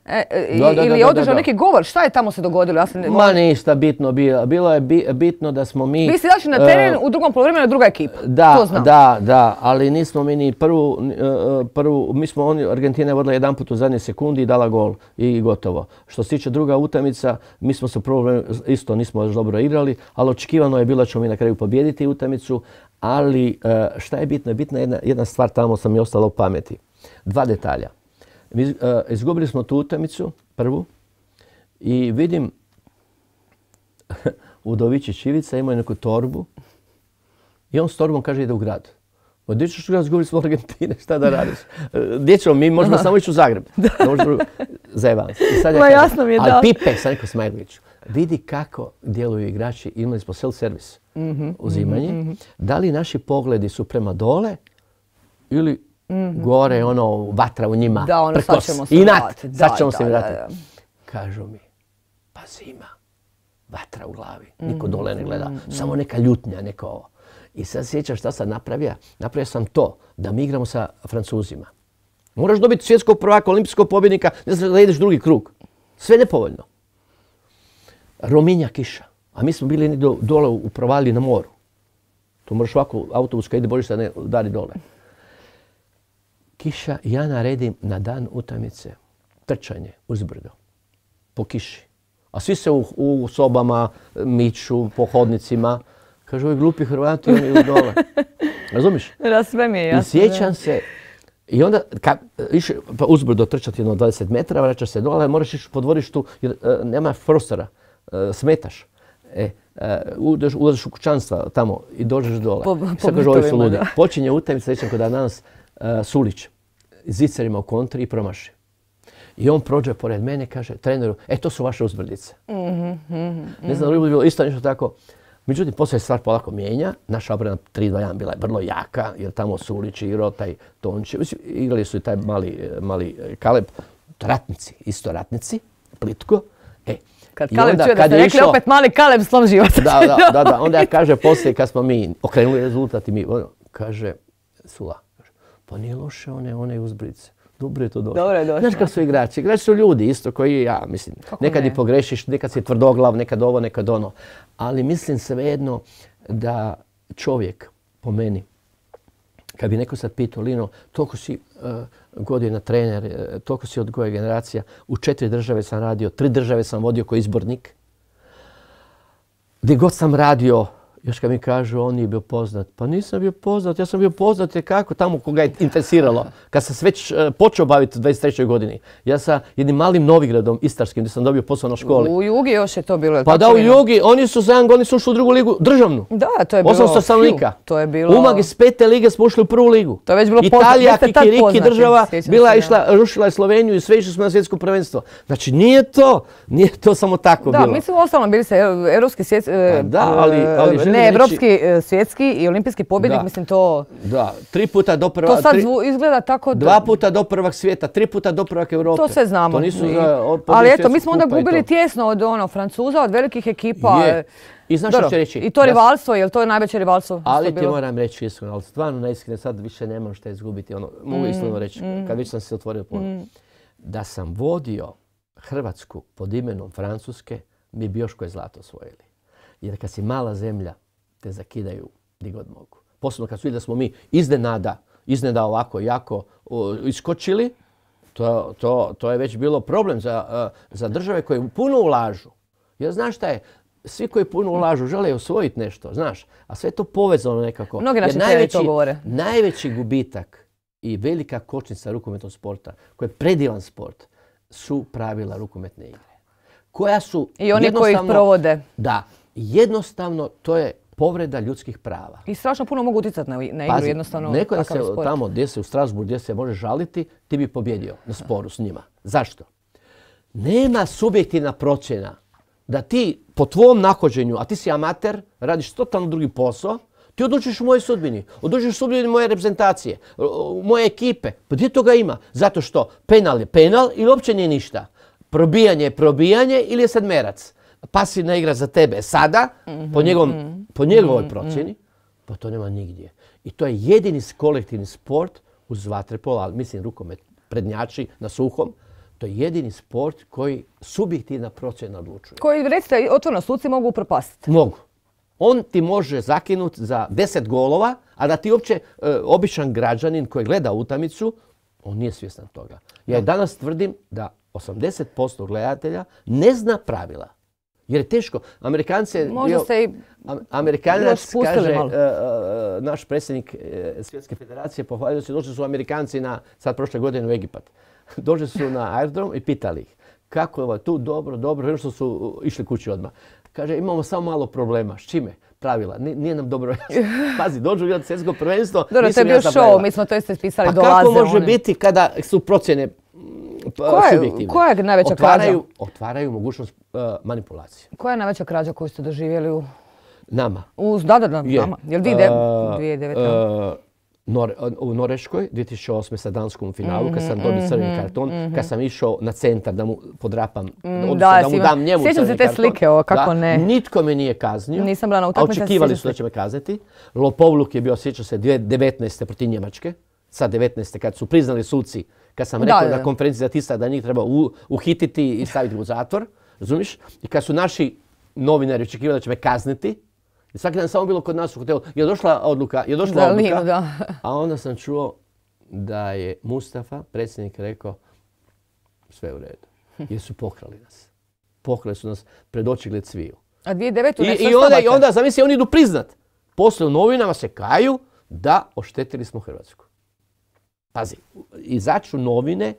Ili je održao neki govor. Šta je tamo se dogodilo? Ma ništa bitno bilo. Bilo je bitno da smo mi... Vi ste došli na teren u drugom poluvremenu druga ekipa. Da, ali nismo mi ni prvu... Mi smo Argentina je vodila jedan put u zadnje sekundi i dala gol i gotovo. Što se tiče druga utakmica, mi smo se isto nismo još dobro igrali, ali očekivano je bilo da ćemo mi na kraju pobijediti utakmicu. Ali šta je bitno? Bitna je jedna stvar, tamo sam mi ostala u pameti. 2 detalja. Izgubili smo tu utakmicu, prvu, i vidim Udovičić Ivica imao neku torbu i on s torbom kaže ide u grad. Gdje ćeš u grad, izgubili smo Argentine, šta da radiš? Gdje ćemo? Mi možemo samo ići u Zagreb. Zajeban se. Jasno mi je da. Ali Pipe, sam rekao Smajloviću, vidi kako djeluju igrači, imali smo self-servis uzimanje. Da li naši pogledi su prema dole ili gore vatra u njima, prkos, inat, sad ćemo se vratiti. Kažu mi, pa zima, vatra u glavi, niko dole ne gleda, samo neka ljutnja, neko ovo. I sad sjećam šta sam napravio. Napravio sam to, da mi igramo sa Francuzima. Moraš dobiti svjetskog prvaka, olimpijskog pobjednika, ne znaš da ideš drugi krug. Sve nepovoljno. Rominja kiša. A mi smo bili dole u provaliji na moru. Tu moraš ovako autobus kad ide božiš se ne udari dole. Kiša, ja naredim na dan utakmice trčanje uzbrdo. Po kiši. A svi se u sobama miču, po hodnicima. Kažu, ovi glupi Hrvati, oni idu dole. Razumiš? Sve mi je jasno. I sjećam se. I onda, išli uzbrdo trčati 20 metara, vraćaš se dole, moraš ići po dvorištu jer nema prostora. Smetaš. Ulaziš u kućanstva tamo i dođeš dole. Sad kažu, ovi su ludi. Počinje utakmica, sjećam kod danas Sulić zicerima u kontri i promaši. I on prođe pored mene i kaže treneru, to su vaše uzbrdice. Ne znam, li bi bilo isto nešto tako. Međutim, poslije stvar polako mijenja. Naša obrana 3-2-1 bila je vrlo jaka, jer tamo Sulić igrao, taj Tončević, igrali su i taj mali Kaleb, ratnici, isto ratnici, plitko. Kad Kaleb čuje da ste rekli opet mali Kaleb, slom života. Da. Onda ja kaže poslije kad smo mi okrenuli rezultat i mi, kaže Sula, pa nije loše one uzbrice. Dobro je to došlo. Dobro je došlo. Znaš kako su igrači? Igrači su ljudi isto koji ja, mislim. Nekad i pogrešiš, nekad si tvrdoglav, nekad ovo, nekad ono. Ali mislim svejedno da čovjek, po meni, kad bi neko sad pitao, Lino, toliko si godina trener, toliko si odgoja generacija, u 4 države sam radio, 3 države sam vodio kao izbornik. Gdje god sam radio, još kad mi kažu on nije bio poznat. Pa nisam bio poznat, ja sam bio poznat kako tamo koga je interesiralo. Kad sam se već počeo baviti u 23. godini. Ja sa jednim malim Novigradom istarskim gdje sam dobio posao na školi. U Jugi još je to bilo. Pa da, u Jugi, oni su za jedan godin ušli u drugu ligu, državnu. Da, to je bilo. 800 stanovnika. To je bilo. Umag iz 5. lige smo ušli u prvu ligu. To je već bilo Italija, kikiriki država, rušila je Sloveniju i sve išli smo na svjetsko prvenstvo. Znači nije to samo tako bilo. Da, mislim uostalom bili se europski svjetski, ne evropski, svjetski i olimpijski pobjednik, mislim to... Da, 3 puta do prvak... To sad izgleda tako... 2 puta do prvak svijeta, 3 puta do prvak Europe. To sve znamo. To nisu ali eto, mi smo onda gubili tjesno od Francuza, od velikih ekipa. I znaš što ću reći? I to rivalstvo, je li to je najveće rivalstvo? Ali ti moram reći iskreno, ali stvarno naiskreno, sad više nemam šta izgubiti. Mogu iskreno reći, kad već sam se otvorio puno. Da sam vodio Hrvatsku pod imenom Francuske, mi bi još koje zlato osvojili. Jer kad si mala zemlja, te zakidaju gdje god mogu. Posebno kad su vidjeli da smo mi iznenada ovako jako iskočili, to je već bilo problem za države koje puno ulažu. Jer znaš šta je, svi koji puno ulažu žele osvojiti nešto, znaš, a sve je to povezano nekako. Mnogi naši treneri to govore. Najveći gubitak i velika kočnica rukometnog sporta, koji je predivan sport, su pravila rukometne igre. Koja su i oni koji ih provode. Da, jednostavno to je povreda ljudskih prava. I strašno puno mogu utjecati na igru, jednostavno. Neko da se tamo gdje se u Strasbourgu, gdje se može žaliti, ti bi pobjedio na sporu s njima. Zašto? Nema subjektivna procjena da ti po tvom nahođenju, a ti si amater, radiš totalno drugi posao, ti odlučiš u mojoj sudbini, odlučiš u sudbini moje reprezentacije, moje ekipe. Pa gdje toga ima? Zato što penal je penal ili uopće nije ništa. Probijanje je probijanje ili je sedmerac. Pasivna igra za tebe sada, po njegovoj procjeni, pa to nema nigdje. I to je jedini kolektivni sport uz vaterpolo, ali mislim rukomet, prednjači na suhom, to je jedini sport koji subjektivna procjena odlučuje. Koji, recite, otvoreno suci mogu upropastiti? Mogu. On ti može zakinuti za 10 golova, a da ti uopće običan građanin koji gleda utakmicu, on nije svjestan toga. Ja danas tvrdim da 80% gledatelja ne zna pravila. Jer je teško. Amerikanac kaže, naš predsjednik Svjetske federacije pohvalio se, došli su Amerikanci sad prošle godine u Egipat. Došli su na aerodrom i pitali ih kako je tu dobro, još su išli kući odmah. Kaže, imamo samo malo problema. S čime? Pravila. Nije nam dobro jasno. Pazi, dođu gledati svjetsko prvenstvo. Dobro, to je bio show, mi smo to isto pisali, dolaze. Pa kako može biti kada su procjene subjektivne? Koja je najveća krađa? Otvaraju mogućnost manipulacije. Koja je najveća krađa koju ste doživjeli u... Nama. Da, nama. Jel 2009? U Norveškoj 2008. sa Danskom u finalu, kad sam dobio crveni karton, kad sam išao na centar da mu podrapam, da mu dam njemu crveni karton. Sjećam se te slike, kako ne. Nitko me nije kaznio, nisam bila na a utakmici, očekivali su da će me kazniti. Lopovluk je bio, sjećam se, 2019. protiv Njemačke, sad 2019. kad su priznali suci, kad sam rekao na konferenciji za tisak da njih treba uhititi i staviti u zatvor, razumiješ? I kad su naši novinari očekivali da će me kazniti, i svaki dan samo bilo kod nas u hotelu, je došla odluka, a onda sam čuo da je Mustafa, predsjednik, rekao sve u redu. Jer su pokrali nas. Pokrali su nas pred očigled sviju. A 2009. ne I onda, zamisli, oni idu priznat. Poslije u novinama se kaju da oštetili smo Hrvatsku. Pazi, izaću novine,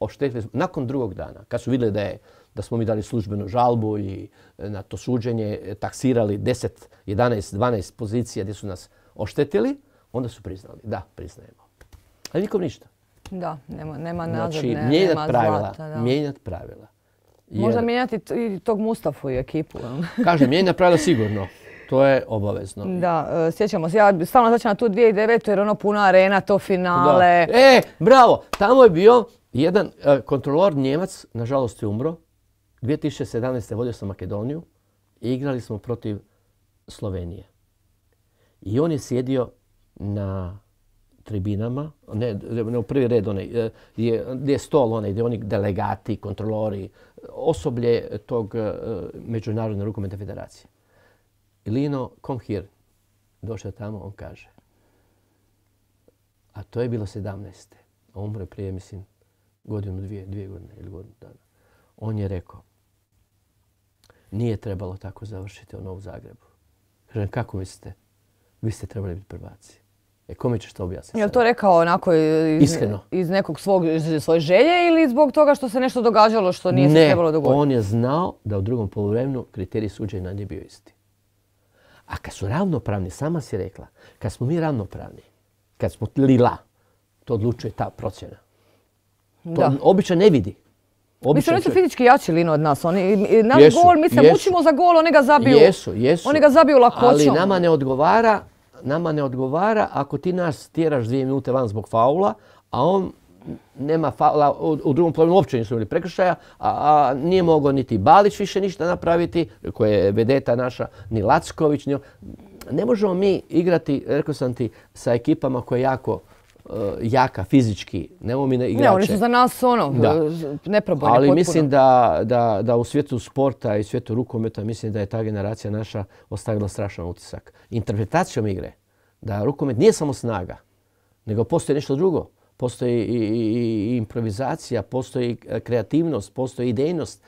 oštetili smo, nakon drugog dana, kad su vidjeli da smo mi dali službenu žalbu i na to suđenje taksirali 10, 11, 12 pozicija gdje su nas oštetili, onda su priznali. Da, priznajemo. Ali nikom ništa. Da, nema nazad, znači, nema zlata. Mijenjati pravila. Možda mijenjati i tog Mustafu i ekipu. Kažem, mijenjati pravila sigurno. To je obavezno. Da, sjećamo se. Ja stalno začem na tu 2009. jer ono puna arena, to finale. Da. Bravo! Tamo je bio jedan kontrolor Njemac, nažalost je umro. 2017. vodio sam Makedoniju i igrali smo protiv Slovenije. I on je sjedio na tribinama, ne u prvi red, gdje je stol, gdje oni delegati, kontrolori, osoblje tog Međunarodne rukometne federacije. I Lino, come here. Došao tamo, on kaže. A to je bilo 17. A umro je prije, mislim, godinu, dvije godine ili godinu dana. On je rekao, nije trebalo tako završiti ono u Zagrebu. Kažem, kako mislite? Vi ste trebali biti prvaci. Kome ćeš to objasniti? Je li to rekao onako iz nekog svoje želje ili zbog toga što se nešto događalo što nije se trebalo dogoditi? Ne, on je znao da u drugom poluvremenu kriterij suđenja nije bio isti. A kad su ravnopravni, sama si rekla, kad smo mi ravnopravni, kad smo lila, to odlučuje ta procjena. To obično ne vidi. Mislim, oni su fizički jači Lino od nas. Naš gol, mi se mučimo za gol, oni ga zabiju. Jesu. Oni ga zabiju lakoćom. Ali nama ne odgovara ako ti nas tjeraš 2 minute van zbog faula, a on nema faula, u drugom poluvremenu uopće nisu imali prekršaja, a nije mogao niti Balić više ništa napraviti, koja je vedeta naša, ni Lacković. Ne možemo mi igrati, rekao sam ti, sa ekipama koja je jako jaka fizički, neumine igrače. Ne, oni su za nas neprobojne Ali potpuno. mislim da u svijetu sporta i svijetu rukometa, mislim da je ta generacija naša ostavila strašan utisak. Interpretacijom igre, da rukomet nije samo snaga, nego postoji nešto drugo. Postoji i improvizacija, postoji kreativnost, postoji idejnost.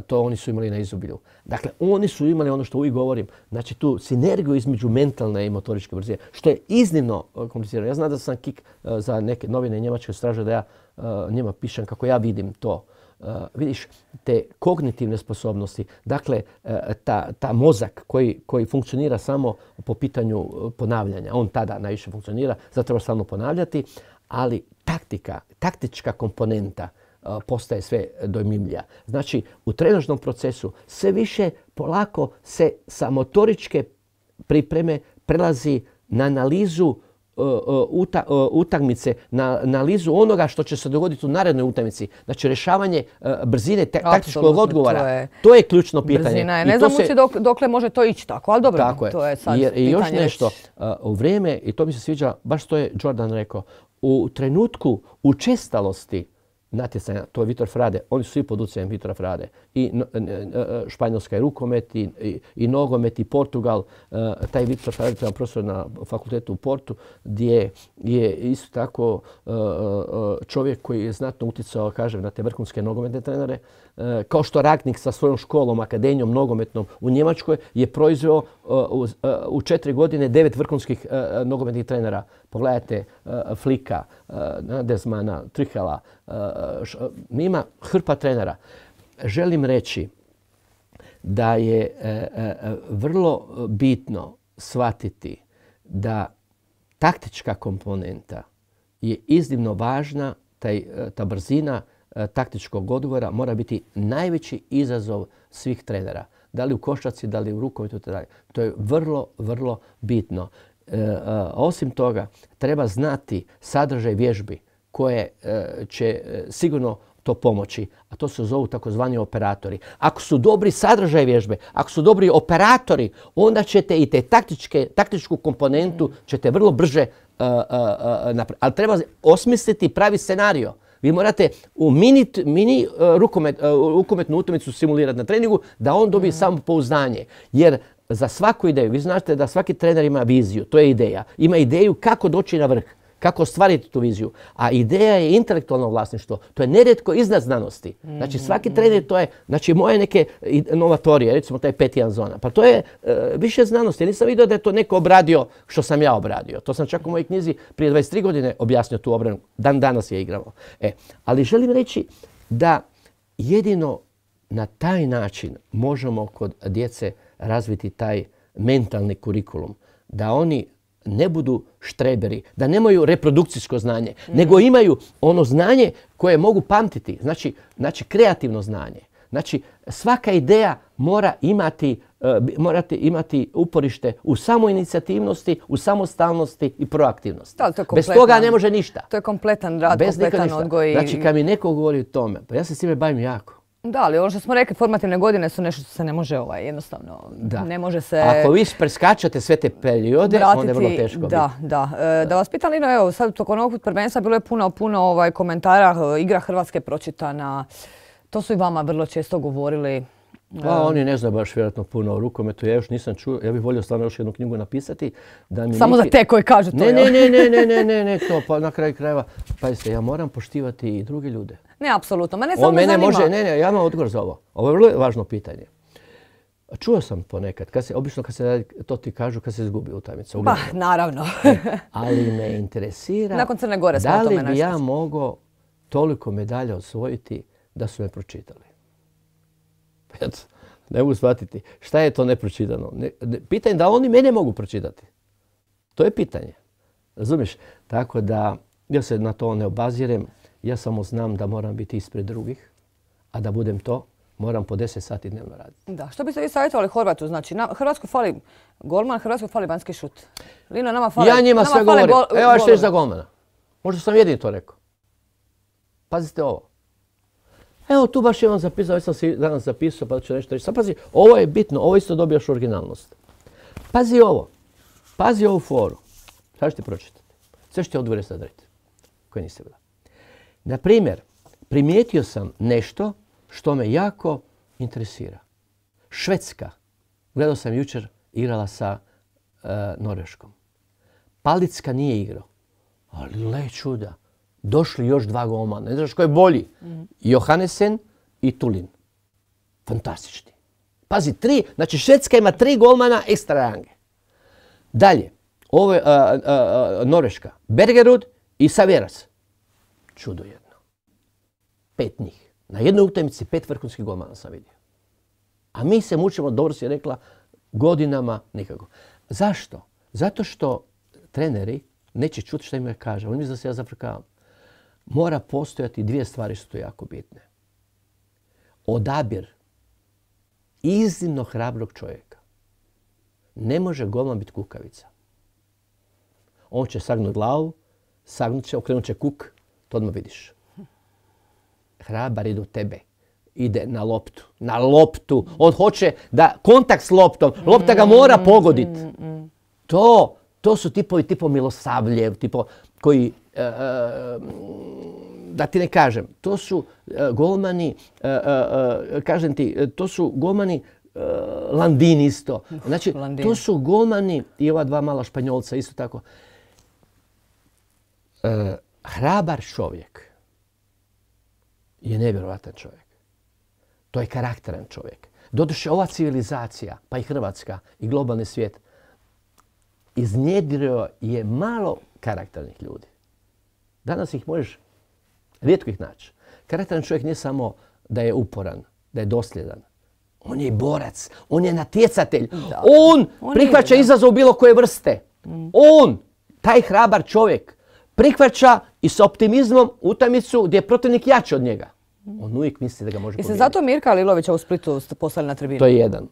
To oni su imali na izobilju. Dakle, oni su imali ono što uvijek govorim, znači tu sinergiju između mentalne i motoričke brzine, što je iznimno komplicirano. Ja znam da sam kik za neke novine njemačke straže da ja njima pišem kako ja vidim to. Vidiš, te kognitivne sposobnosti, dakle, ta mozak koji funkcionira samo po pitanju ponavljanja, on tada najviše funkcionira, zato treba stalno ponavljati, ali taktička komponenta postaje sve dojmljivija. Znači, u trenažnom procesu sve više polako se sa motoričke pripreme prelazi na analizu utakmice, na analizu onoga što će se dogoditi u narednoj utakmici. Znači, rješavanje brzine taktičkog odgovora. To je ključno pitanje. Brzina je. Ne znam dokle može to ići tako, ali dobro, to je sad pitanje. I još nešto, u vrijeme, i to mi se sviđa, baš to je Jordan rekao, u trenutku učestalosti natjecanja, to je Vitor Frade, oni su svi pod utjecajem Vitora Frade. I Španjolska je rukomet, i nogomet, i Portugal. Taj Vitor Frade, to je profesor na fakultetu u Portu, gdje je isto tako čovjek koji je znatno utjecao, kažem, na te vrhunske nogometne trenere. Kao što Ragnik sa svojom školom, akademijom nogometnom u Njemačkoj je proizveo u 4 godine 9 vrhunskih nogometnih trenera. Pogledajte Flika, Nagelsmana, Tuchela, ima hrpa trenera. Želim reći da je vrlo bitno shvatiti da taktička komponenta je iznimno važna, ta brzina taktičkog odgovora mora biti najveći izazov svih trenera. Da li u košarci, da li u rukometu, itd. To je vrlo, vrlo bitno. Osim toga, treba znati sadržaj vježbi koje će sigurno to pomoći, a to se zovu takozvani operatori. Ako su dobri sadržaj vježbe, ako su dobri operatori, onda ćete i te taktičku komponentu ćete vrlo brže napraviti. Ali treba osmisliti pravi scenario. Vi morate u mini rukometnu utakmicu simulirati na treningu da on dobije samopouzdanje. Jer za svaku ideju, vi znate da svaki trener ima viziju, to je ideja. Ima ideju kako doći na vrh, kako ostvariti tu viziju. A ideja je intelektualno vlasništvo. To je nerijetko iznad znanosti. Znači svaki trener to je, znači moje neke novatorije, recimo taj 5-1 zona. Pa to je više znanosti. Ja nisam vidio da je to neko obradio što sam ja obradio. To sam čak u mojoj knjizi prije 23 godine objasnio tu obranu. Dan danas je igramo. Ali želim reći da jedino na taj način možemo kod djece razviti taj mentalni kurikulum. Da oni ne budu štreberi, da nemaju reprodukcijsko znanje, nego imaju ono znanje koje mogu pamtiti. Znači kreativno znanje. Znači svaka ideja mora imati morate imati uporište u samoinicijativnosti, u samostalnosti i proaktivnosti. Bez toga ne može ništa. To je kompletan rad, kompletan odgoj. Znači, kad mi neko govori o tome, pa ja se s time bavim jako. Da, ali ono što smo rekli, formativne godine su nešto što se ne može jednostavno, ne može se... Ako vi preskačate sve te periode, onda je vrlo teško biti. Da. Da vas pitam, Lino, evo, sad tokom ovog prvenstva bilo je puno komentara, igra Hrvatske pročitana. To su i vama vrlo često govorili. Pa oni ne znaju baš vjerojatno puno o rukometu, ja još nisam čuo, ja bih volio stvarno još jednu knjigu napisati. Samo za te koji kažu to. Ne, to pa na kraju krajeva. Pazite, ja moram poštivati i druge ljude. Ne, apsolutno. Mene samo zanima. Ja imam odgovor za ovo. Ovo je vrlo važno pitanje. Čuo sam ponekad, obično kad se to ti kažu kad se izgubi utakmica. Pa, naravno. Ali me interesira nakon Crne Gore da li bi ja mogao toliko medalja osvojiti da su me pročitali. Ne mogu shvatiti. Šta je to nepročitano? Pitanje da oni mene mogu pročitati. To je pitanje. Razumiješ? Tako da ja se na to ne obazirem. Ja samo znam da moram biti ispred drugih. A da budem to, moram po 10 sati dnevno raditi. Da. Što biste vi savjetovali Horvatu? Znači, Hrvatskoj fali golman, Hrvatskoj fali vanjski šut. Lino, nama fali... Ja njima sve govorim. Evo što je za golmana. Možda sam jedini to rekao. Pazite ovo. Evo tu baš imam zapisao, već sam si danas zapisao pa ću nešto reći. Sad pazi, ovo je bitno, ovo isto dobijaš originalnost. Pazi ovo, pazi ovu foru. Sad ću ti pročitati. Sve što ti odgovore sad reći, koje niste bila. Naprimjer, primijetio sam nešto što me jako interesira. Švedska, gledao sam jučer, igrala sa Norveškom. Palicka nije igrao, ali le čuda. Došli još 2 golmana. Ne znaš ko je bolji? Johannesen i Tulin. Fantastični. Pazi, 3. Znači Švedska ima 3 golmana ekstra range. Dalje. Ovo je Norveška. Bergerud i Saveras. Čudo jedno. 5 njih. Na jednoj utakmici 5 vrhunskih golmana sam vidio. A mi se mučimo, dobro si rekla, godinama nikako. Zašto? Zato što treneri neće čuti što im ja kažem. Oni misle da se ja zafrkavam. Mora postojati 2 stvari što su jako bitne. Odabir iznimno hrabrog čovjeka. Ne može golman biti kukavica. On će sagnuti glavu, okrenut će kuk, to odmah vidiš. Hrabar ide u tebe. Ide na loptu. Na loptu. On hoće da kontakt s loptom. Lopta ga mora pogoditi. To su tipo Milosavljev, koji, da ti ne kažem, to su golmani, kažem ti, to su golmani Landin isto. Znači, to su golmani i ova 2 mala Španjolca isto tako. Hrabar čovjek je nevjerovatan čovjek. To je karakteran čovjek. Doduše, ova civilizacija, pa i Hrvatska i globalni svijet, iznjedrio je malo karakternih ljudi. Danas ih možeš rijetko ih naći. Karakteran čovjek nije samo da je uporan, da je dosljedan. On je i borac, on je natjecatelj. On prihvaća izazov bilo koje vrste. On, taj hrabar čovjek, prihvaća i s optimizmom utakmicu gdje je protivnik jači od njega. On uvijek misli da ga može pobijediti. I se zato Mirka Lilovića u Splitu poslali na tribinu? To je jedan.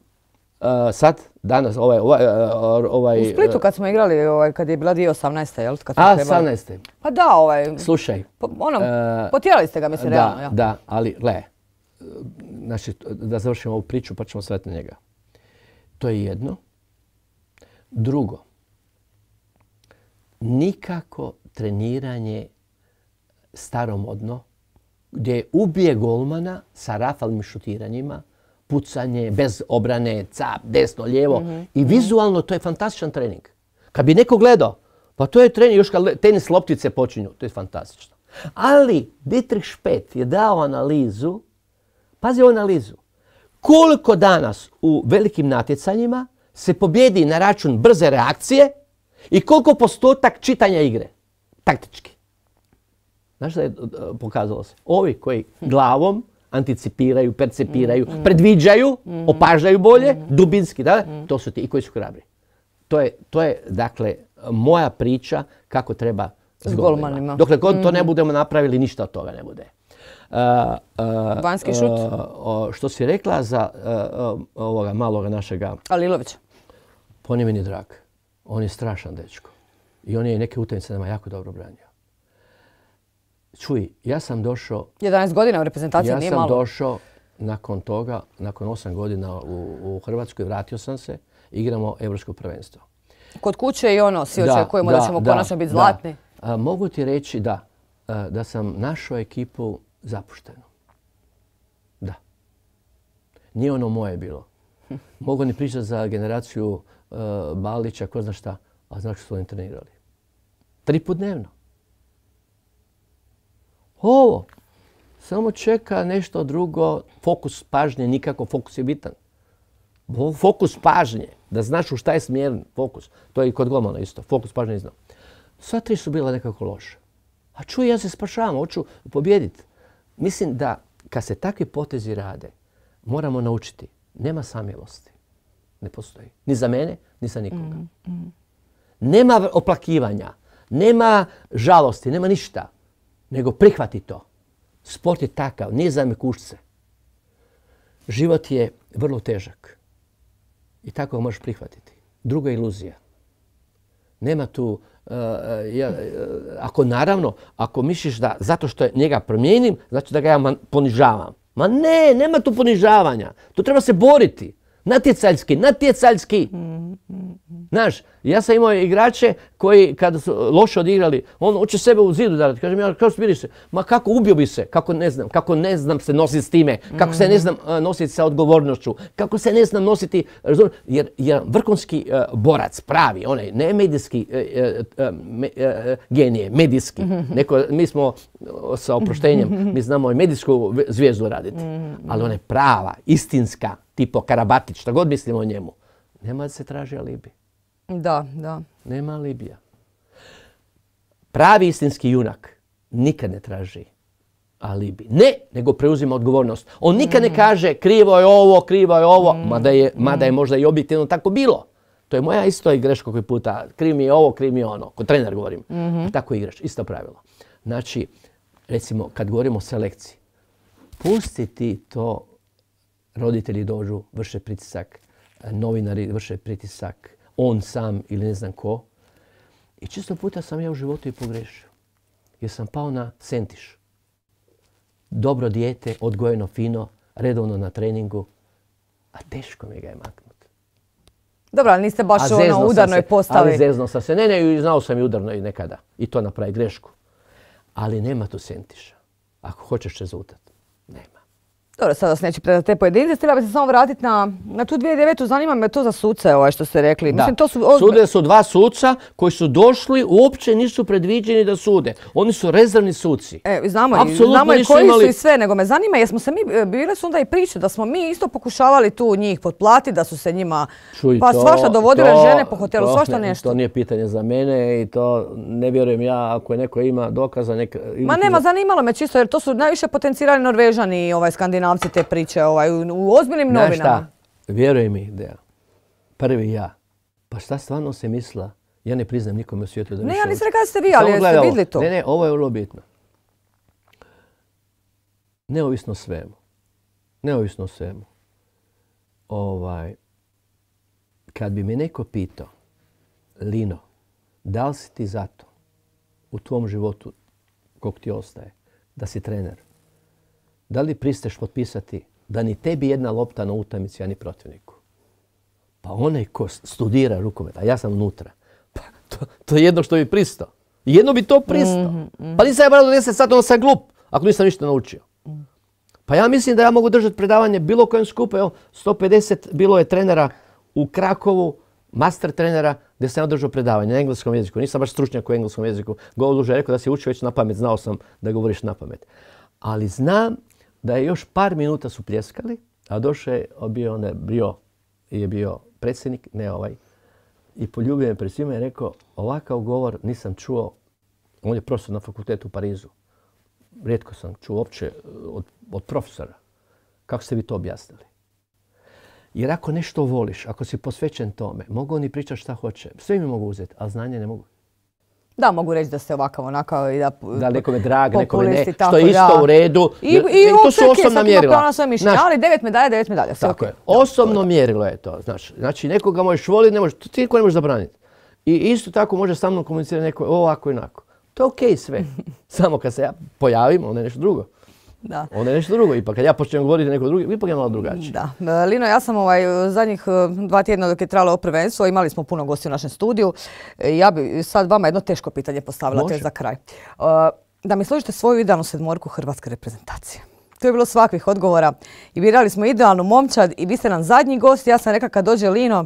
Sad, danas, U Splitu kad smo igrali, kad je bila 2018. jel? 18. Pa da, Slušaj. Potjerali ste ga, mislim, realno. Da, ali, znači, da završimo ovu priču pa ćemo sve na njega. To je jedno. Drugo, nikako treniranje staromodno, gdje ubije golmana sa rafalnim šutiranjima, pucanje, bez obrane, cap, desno, lijevo. I vizualno to je fantastičan trening. Kad bi neko gledao, pa to je trening, još kad tenis loptice počinju, to je fantastično. Ali Dietrich Špet je dao analizu, pazi ovu analizu, koliko danas u velikim natjecanjima se pobjedi na račun brze reakcije i koliko postotak čitanja igre, taktički. Znaš što je pokazalo se? Ovi koji glavom anticipiraju, percepiraju, predviđaju, opažaju bolje, dubinski, to su ti i koji su hrabri. To je, dakle, moja priča kako treba s golmanima. Dokle god to ne budemo napravili, ništa od toga ne bude. Vanjski šut. Što si rekla za ovoga maloga našega... Alilović. Pa on je meni drag. On je strašan dečko. I on je neke utakmice nama jako dobro branio. Čuj, ja sam došao... 11 godina u reprezentaciji nije malo. Ja sam došao nakon toga, nakon 8 godina u Hrvatskoj, vratio sam se, igramo Europsko prvenstvo. Kod kuće i ono, svi očekujemo da ćemo konačno biti zlatni. Mogu ti reći da sam našao ekipu zapuštenu. Da. Nije ono moje bilo. Mogu ni pričati za generaciju Balića, ko zna šta, a znaš što su oni trenirali. 3 put dnevno. Ovo. Samo čeka nešto drugo. Fokus pažnje, nikako fokus je bitan. Fokus pažnje. Da znaš u šta je smjeren fokus. To je i kod golmana isto. Fokus pažnje ne znam. Sva 3 su bila nekako loša. A čuj, ja se spašavam, hoću pobijediti. Mislim da kad se takvi potezi rade, moramo naučiti. Nema samilosti. Ne postoji. Ni za mene, ni za nikoga. Nema oplakivanja. Nema žalosti, nema ništa. Nego prihvati to. Sport je takav, nije za mekušce. Život je vrlo težak. I tako ga možeš prihvatiti. Druga iluzija. Nema tu... ako misliš da zato što njega promijenim, znači da ga ja ponižavam. Ma ne, nema tu ponižavanja. Tu treba se boriti. Natjecajski. Znaš, ja sam imao igrače koji kada su loše odigrali, on hoće sebe u zidu darati. Kažem ja, kako smiriš se? Ma kako ubio bi se? Kako ne znam se nositi s time? Kako se ne znam nositi sa odgovornošću? Kako se ne znam nositi... Jer vrhunski borac, pravi, onaj, ne medijski genije, medijski. Mi smo sa oproštenjem, mi znamo i medijsku zvijezdu raditi. Ali ona je prava, istinska, tipo Karabatić, šta god mislimo o njemu. Nema da se traži alibi. Da. Nema alibija. Pravi istinski junak nikad ne traži alibi. Ne, nego preuzima odgovornost. On nikad ne kaže krivo je ovo, mada je možda i objektivno tako bilo. To je moja isto i greška koji puta. Kriv mi je ovo, kriv mi je ono. Kod trener govorim. Tako igraš, isto pravilo. Znači, recimo, kad govorimo o selekciji, pusti ti to, roditelji dođu, vrše pritisak, novinari vrše pritisak, on sam ili ne znam ko. I često puta sam ja u životu i pogrešio. Jer sam pao na sentiš. Dobro dijete, odgojeno fino, redovno na treningu, a teško mi ga je maknuti. Dobro, ali niste baš u udarnoj postavi. Ali zezno sam se. Ne, znao sam i udarno i nekada. I to napravi grešku. Ali nema tu sentiša. Ako hoćeš rezultat, nema. Dobro, sada vas neću predati te pojedince. Htjela bi se samo vratiti na tu 2009. Zanima me to za suce, što ste rekli. Da. Mislim, to Sude su 2 suca koji su došli, uopće nisu predviđeni da sude. Oni su rezervni suci. Znamo i koji su i sve, nego me zanima, jesmo se mi, bile su onda i priče da smo mi isto pokušavali tu njih potplatiti, da su se njima svašta dovodile žene po hotelu, svašta nešto. To nije pitanje za mene i to ne vjerujem ja, ako je neko ima dokaza. Zanimalo me čisto jer to su najviše potencirali Norvežani i Skandinavci te priče u ozbiljnim novinama. Znaš šta? Vjeruj mi, Deja. Prvi ja. Pa šta stvarno se misla? Ja ne priznam nikome u svijetu da više... Ne, ja nisam rekao da ste vi, ali jeste vidjeli to? Ne, ovo je vrlo bitno. Neovisno o svemu. Kad bi me neko pitao, Lino, da li si ti zato u tvom životu, kog ti ostaje, da si trener? Da li pristaješ potpisati da ni tebi jedna lopta na utakmici, a ni protivniku? Pa onaj ko studira rukomet, a ja sam unutra, pa to je jedno što bi pristao. Jedno bi to pristao. Pa nisam ja morao 10 sati, onda sam glup, ako nisam ništa naučio. Pa ja mislim da ja mogu držati predavanje bilo kojem skupu. Evo, 150 bilo je trenera u Krakovu, master trenera, gdje sam ja držao predavanje na engleskom jeziku. Nisam baš stručnjak u engleskom jeziku. Govor je rekao da si učio već na pamet, znao sam da govoriš na pamet. Ali znam da je još par minuta su pljeskali, a došao je bio predsjednik, ne ovaj, i poljubio me pred svima i rekao, ovakav govor nisam čuo, on je profesor na fakultetu u Parizu. Rijetko sam čuo uopće od profesora. Kako ste vi to objasnili? Jer ako nešto voliš, ako si posvećen tome, mogu oni pričati šta hoće. Sve mi mogu uzeti, ali znanje ne mogu. Da, mogu reći da ste ovakav, onakav i da... Da, nekome drag, nekome ne, populisti, što je isto u redu. I to su osobna mjerila. Ali 9 medalja, 9 medalja. Tako je. Osobno mjerilo je to. Znači, nekoga možeš voliti, ti niko ne možeš zabraniti. I isto tako može sa mnom komunicirati neko ovako i onako. To je okej sve. Samo kad se ja pojavim, onda je nešto drugo. Da. Onda je nešto drugo. Ipak kad ja počnem govoriti neko drugi, ipak je malo drugačije. Da. Lino, ja sam zadnjih 2 tjedna dok je trajalo ovo prvenstvo, imali smo puno gosti u našem studiju. Ja bi sad vama jedno teško pitanje postavila, te za kraj. Da mi složite svoju idealnu sedmorku hrvatske reprezentacije. To je bilo svakvih odgovora i birali smo idealnu momčad i vi ste nam zadnji gost. Ja sam rekla kad dođe Lino,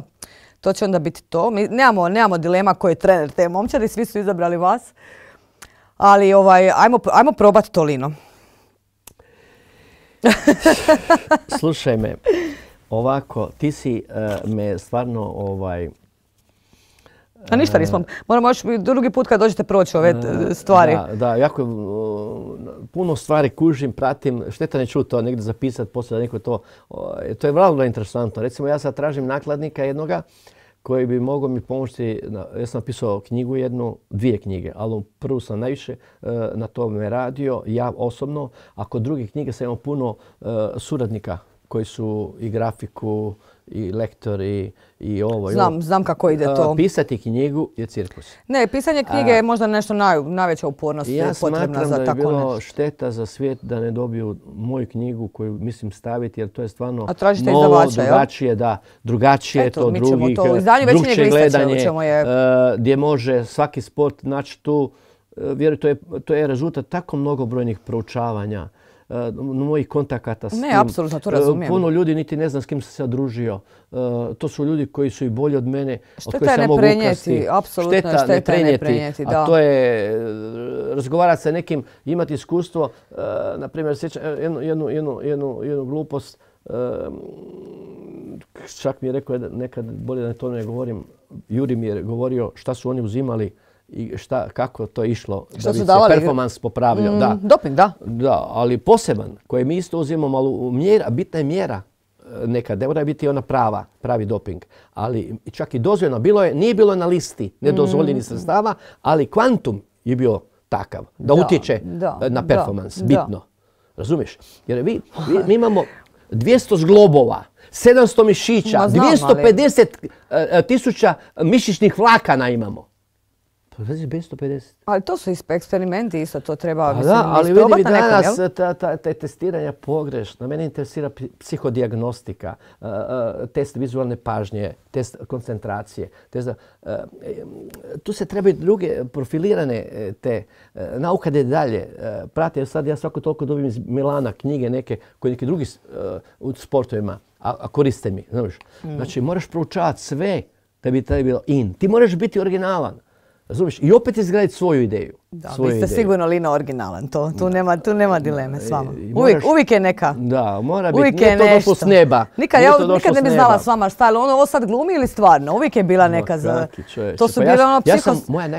to će onda biti to. Mi nemamo dilema ko je trener te momčade, svi su izabrali vas. Ali ajmo probati to, Lino. Slušaj me, ovako, ti si me stvarno A ništa nismo. Moramo još drugi put kad dođete proći ove stvari. Da, jako puno stvari kužim, pratim. Šteta ne čuti to negdje zapisati, poslije da neko to... To je vrlo interesantno. Recimo, ja sad tražim nakladnika jednoga koji bi mogao mi pomoći. Ja sam napisao knjigu jednu, 2 knjige, ali prvu sam najviše na tome radio, ja osobno. A kod drugih knjiga sam imao puno suradnika koji su i grafiku, i lektori, i ovo. Znam kako ide to. Pisati knjigu je cirkus. Ne, pisanje knjige je možda nešto najveća upornost potrebna za tako nešto. Ja smatram da je bilo šteta za svijet da ne dobiju moju knjigu koju mislim staviti, jer to je stvarno novo, drugačije, drugačije to drugih, drugčije gledanje, gdje može svaki sport naći tu. Vjerujte, to je rezultat tako mnogobrojnih proučavanja, mojih kontakata s tim. Ne, apsolutno, to razumijem. Puno ljudi niti ne znam s kim sam se družio. To su ljudi koji su i bolji od mene, od kojih sam mogu ukrasti. Šteta ne prenijeti. A to je razgovarati sa nekim, imati iskustvo. Naprimjer, sjećam jednu glupost. Čak mi je rekao nekad, bolje da to ne govorim, Juri mi je govorio šta su oni uzimali i kako to je išlo da bi se performans popravljao. Doping, da. Da, ali poseban koji mi isto uzimamo, ali bitna je mjera nekad, ne mora biti ona pravi doping. Ali čak i dozvoljeno, nije bilo na listi nedozvoljenih sredstava, ali kvantum je bio takav da utječe na performans, bitno. Razumiješ? Jer mi imamo 200 zglobova, 700 mišića, 250.000 mišićnih vlakana imamo. Pa već 250. Ali to su eksperimenti isto, to treba ali vidi danas te testiranja pogrešno. Mene interesira psihodijagnostika, test vizualne pažnje, test koncentracije. Tu se trebaju druge profilirane te nauka da dalje prate. Sad ja svako toliko dobijem iz Milana knjige neke koje neki drugi u sportovima, a koriste mi. Znači moraš proučavati sve da bi taj bilo in. Ti moraš biti originalan. Razumiješ? I opet izgraditi svoju ideju. Da, vi ste sigurno Lino originalan. Tu nema dileme s vama. Uvijek je neka. Da, mora biti. Nije to došlo s neba. Nikad ne bi znala s vama šta je ovo sad glumi ili stvarno. Uvijek je bila neka za... To su bile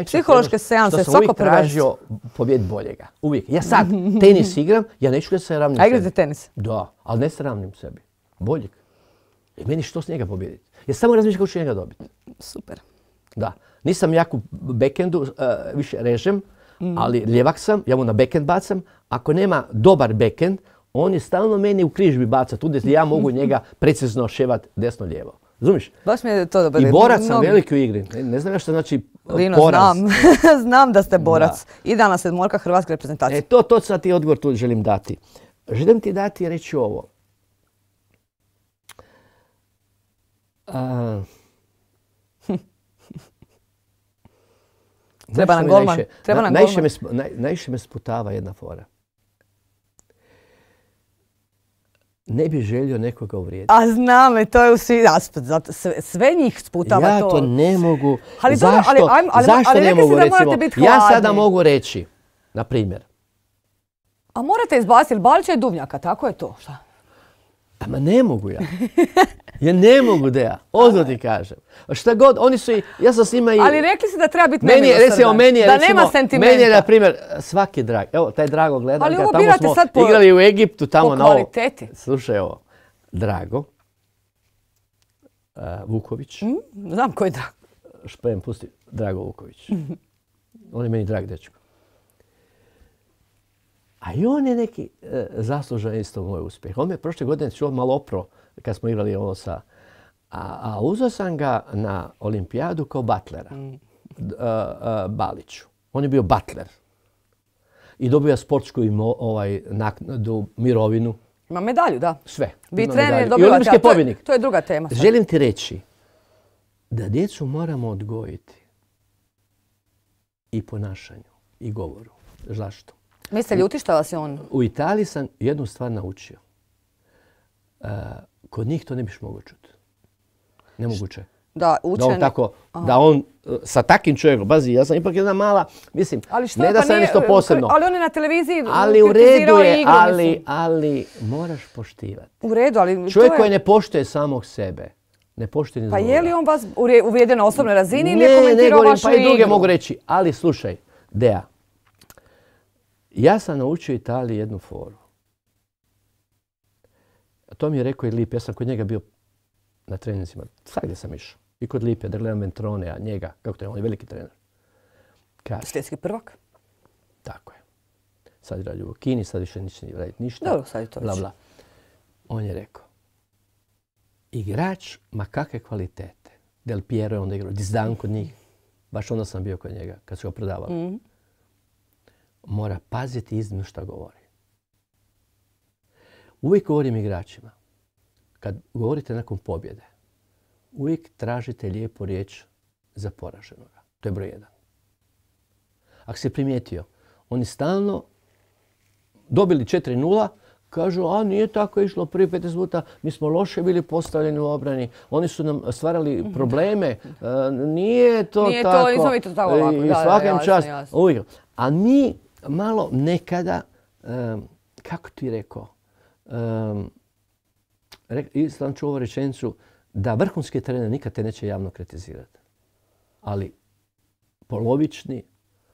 psihološke seanse, svako prvenstvo. Ja sam tražio pobjed boljega. Uvijek. Ja sad tenis igram, ja neću da se ravnim sebi. A igrate tenis? Da, ali ne se ravnim sebi. Boljeg. I meni što s njega pobjediti? Ja samo razmišljam kako ću njega dobiti. Super. Da. Nisam jak u backhandu, više režem, ali ljevak sam, ja mu na backhand bacam. Ako nema dobar backhand, on je stalno meni u križ mi baca, tu gdje ja mogu njega precizno ševat desno-lijevo. Razumiješ? Baš mi je to dobro. I borac sam veliki u igri. Ne znam što znači Lino, poraz. Znam da ste borac. Idealna sedmorka hrvatske reprezentacije. To sad ti odgovor tu želim dati. Želim ti dati i reći ovo. Treba nam golman. Najviše me sputava jedna fora. Ne bi želio nekoga uvrijediti. A znam, to je u svi aspekt. Sve njih sputava to. Ja to ne mogu. Zašto ne mogu, recimo? Ja sada mogu reći, na primjer. A morate izbaciti Balića i Duvnjaka, tako je to. Šta? Ma ne mogu ja. Ja ne mogu da ja. Ozno ti kažem. Šta god, oni su ja sam s njima i... Ali rekli ste da treba biti nemilosrdan. Da nema sentimenta. Meni je, na primjer, svaki drag. Evo, taj Drago gledam. Ali ovo birate sad po... Igrali u Egiptu, tamo po kvaliteti. Slušaj ovo. Drago. Vuković. Znam ko je Drago. Šprem, pusti. Drago Vuković. On je meni drag dečko. A i on je neki zaslužan isto moj uspjeh. On me prošle godine čuo malo opro kad smo igrali ovo sa... A uzeo sam ga na olimpijadu kao butlera. Baliću. On je bio butler. I dobio sportsku naknadu, mirovinu. Ima medalju, da. Sve. Vi trener dobivate, a to je druga tema. Sad. Želim ti reći da djecu moramo odgojiti i ponašanju i govoru. Zašto? Mislite ljuti što vas je on? U Italiji sam jednu stvar naučio. Kod njih to ne biš mogao čuti. Nemoguće. Da, učen... Da on sa takim čovjekom, bazi, ja sam ipak jedna mala, mislim, ne da sam nešto posebno. Ali on je na televiziji ali u redu je, ali moraš poštivati. U redu, ali... Čovjek koji ne poštuje samog sebe, ne poštuje ni drugoga. Pa je li on vas uvrijedio na osobnoj razini ili je komentirao vašu igru? Pa i druge mogu reći, ali slušaj, Deja, ja sam naučio Italiji jednu foru. To mi je rekao i Lip, ja sam kod njega bio na treninzima, svakdje sam išao. I kod Lipe, da gledam Ventrone, njega, kako to je, on je veliki trener. Svjetski prvak? Tako je. Sad radi u Kini, sad više neće raditi ništa. Dobro, sad je to bla, bla. On je rekao, igrač, ma kakve kvalitete. Del Piero je onda igrao, Dizdan kod njih. Baš onda sam bio kod njega, kad su ga prodavali. Mora paziti iznimno šta govori. Uvijek govorim igračima, kad govorite nakon pobjede, uvijek tražite lijepu riječ za poraženoga. To je broj 1. Ako si primijetio, oni stalno dobili 4-0, kažu, a nije tako išlo prvi 15 minuta, mi smo loše bili postavljeni u obrani, oni su nam stvarali probleme, nije to tako. Nismo mi to tako ovako. I svakom čast. A mi malo nekada, kako ti rekao, sam čuo ovu rečenicu da vrhunski trener nikad te neće javno kritizirati. Ali polovični...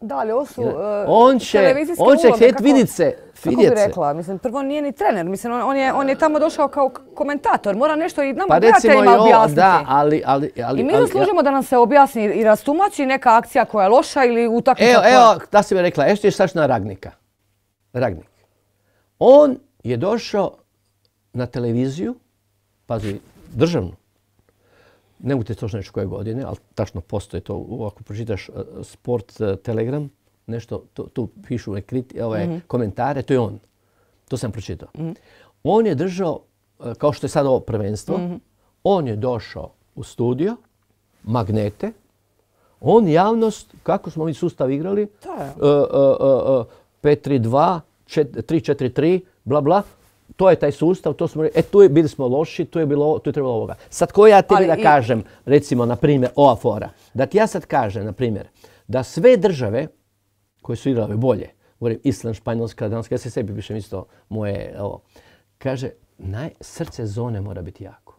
Da, ali ovo su on će htjeti vidjeti se. Kako bi rekla? Mislim, prvo nije ni trener. Mislim, on je tamo došao kao komentator. Mora nešto i nama gledateljima objasniti. Da, ali... I mi zaslužimo da nam se objasni i rastumači neka akcija koja je loša ili utakmica koja... Evo, da si mi rekla, ešte je staš na Ragnika. Ragnik. On je došao na televiziju, pazi, državnu. Ne mogu te točno reći koje godine, ali tačno postoji to. Ako pročitaš Sport Telegram, nešto, tu pišu komentare, to je on. To sam pročitao. On je držao, kao što je sad ovo prvenstvo, on je došao u studio, magnete, on javnost, kako smo mi sustav igrali, 5-3-2, 3-4-3, bla bla, to je taj sustav, to smo bili smo loši, tu je trebalo ovoga. Sad ko ja tebi da kažem, recimo, na primjer, ova fora, da ti ja sad kažem, na primjer, da sve države koje su igrale bolje, govorim Island, Španjolska, Danska, ja se sebi pišem isto moje, kaže, srce zone mora biti jako.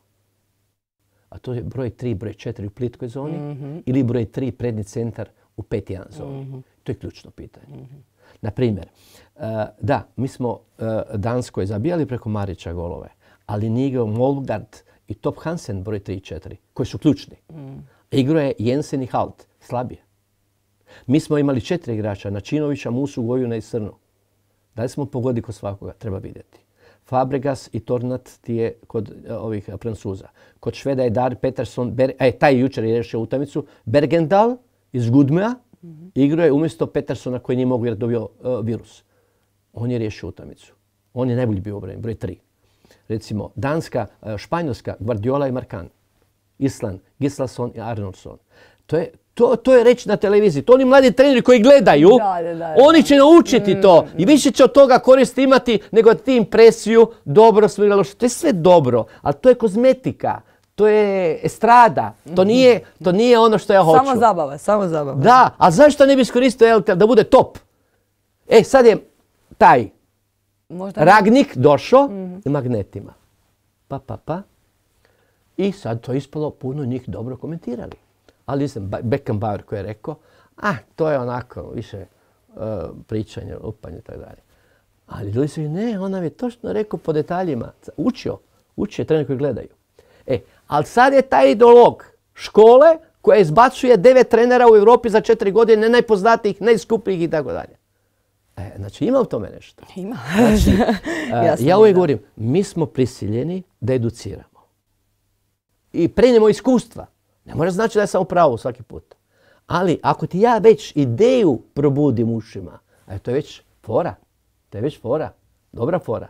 A to je broj 3, broj 4 u plitkoj zoni ili broj 3 prednji centar u 5-1 zoni. To je ključno pitanje. Na primjer, da, mi smo Danskoj zabijali preko Marića golove, ali nije igrao Molgard i Top Hansen broj 3 i 4, koji su ključni. Igrao je Jensen i Halt, slabije. Mi smo imali 4 igrača, Načinovića, Musu, Gojuna i Srnu. Da li smo pogodili kod svakoga? Treba vidjeti. Fabregas i Tornat ti je kod ovih Francuza. Kod Šveda je Dar Peterson, taj jučer je rešio utakmicu. Bergendal iz Gudmea igrao je umjesto Petersona koji nije mogu jer dobio virus. On je riješio utakmicu. On je najbolji bio obrani, broj 3. Recimo, Danska, Španjolska, Guardiola i Markan. Island, Gislason i Arnoldson. To je reći na televiziji. To oni mladi treneri koji gledaju, oni će naučiti to. I više će od toga koristi imati nego ti impresiju, dobro smo igrali loše. To je sve dobro, ali to je kozmetika. To je estrada. To nije ono što ja hoću. Samo zabava. Da, a zašto ne bi iskoristio RTL da bude top? Sad je taj Ragnik došao i magnetima. Pa. I sad to je ispalo, puno njih dobro komentirali. Ali nisam Beckenbauer koji je rekao, to je onako više pričanje, lupanje i tako dalje. Ali ljudi su ne, on nam je točno rekao po detaljima. Učio je trener koji gledaju. Ali sad je taj ideolog škole, koja izbacuje 9 trenera u Europi za 4 godine, najpoznatijih, najskupljih i tako dalje. Znači ima u tome nešto. Ima. Znači, ja uvijek govorim, mi smo prisiljeni da educiramo. I prenijemo iskustva. Ne mora znači da je samo pravo svaki put. Ali ako ti ja već ideju probudim ušima, to je već fora. To je već fora. Dobra fora.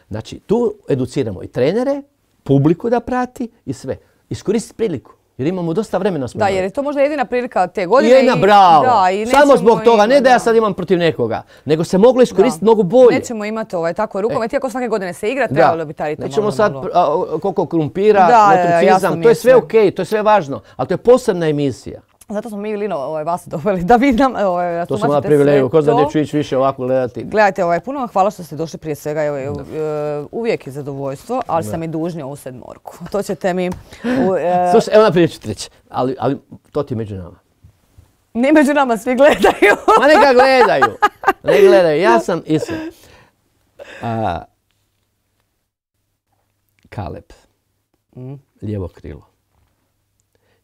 Znači, tu educiramo i trenere, publiku da prati i sve. Iskoristiti priliku. Jer imamo dosta vremena. Da, jer je to možda jedina prilika te godine. Jedna, bravo. Samo zbog toga. Ne da ja sad imam protiv nekoga. Nego se moglo iskoristiti mnogo bolje. Nećemo imati tako rukomet. Iako svake godine se igra, trebalo bi taj ritmo. Nećemo sad koliko krumpira, netricizam. To je sve okej, to je sve važno. Ali to je posebna emisija. Zato smo mi, Lino, vas doveli da vi nam to sam imala privilegiju, ko zna neću ići više ovako gledati. Gledajte, puno vam hvala što ste došli prije svega. Uvijek je zadovoljstvo, ali sam i dužni ovu sedmorku. To ćete mi... Slušaj, evo naprijed ću ti reći, ali to ti je među nama. Ne među nama, svi gledaju. Ma neka gledaju. Ne gledaju, ja sam isto. Kaleb, lijevo krilo.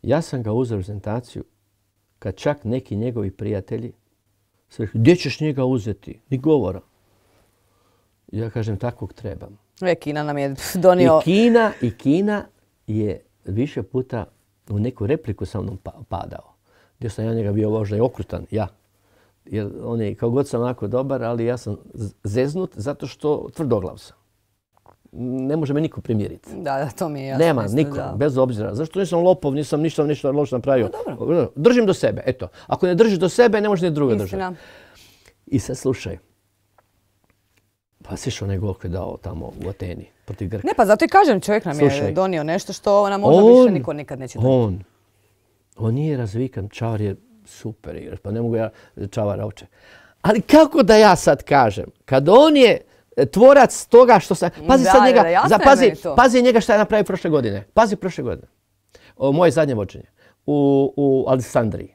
Ja sam ga uzeo prezentaciju kad čak neki njegovi prijatelji su rekli, gdje ćeš njega uzeti? Ni govora. Ja kažem, takvog trebam. Kina nam je donio... I Kina je više puta u neku repliku sa mnom padao. Gdje sam ja njega bio možda i okrutan, ja. Jer on je, kao god sam onako dobar, ali ja sam zeznut zato što tvrdoglav sam. Ne može me niko primiriti. Da, to mi je jasno. Nema niko, bez obzira. Zašto nisam lopov, nisam ništa loše napravio. Dobro. Držim do sebe, eto. Ako ne držiš do sebe, ne možeš ni druga držati. I sad slušaj. Pa si onaj gol koji je dao tamo u Ateni protiv Grka. Ne, pa zato i kažem, čovjek nam je donio nešto što nam možda više niko nikad neće donijeti. On nije razvikan, Čavar je super igrač, pa ne mogu ja Čavara oče. Ali kako da ja sad kažem, kad on je tvorac toga što sam... Pazi sad njega, pazi njega šta je napravio prošle godine. Pazi prošle godine. Moje zadnje vođenje u Aleksandriji.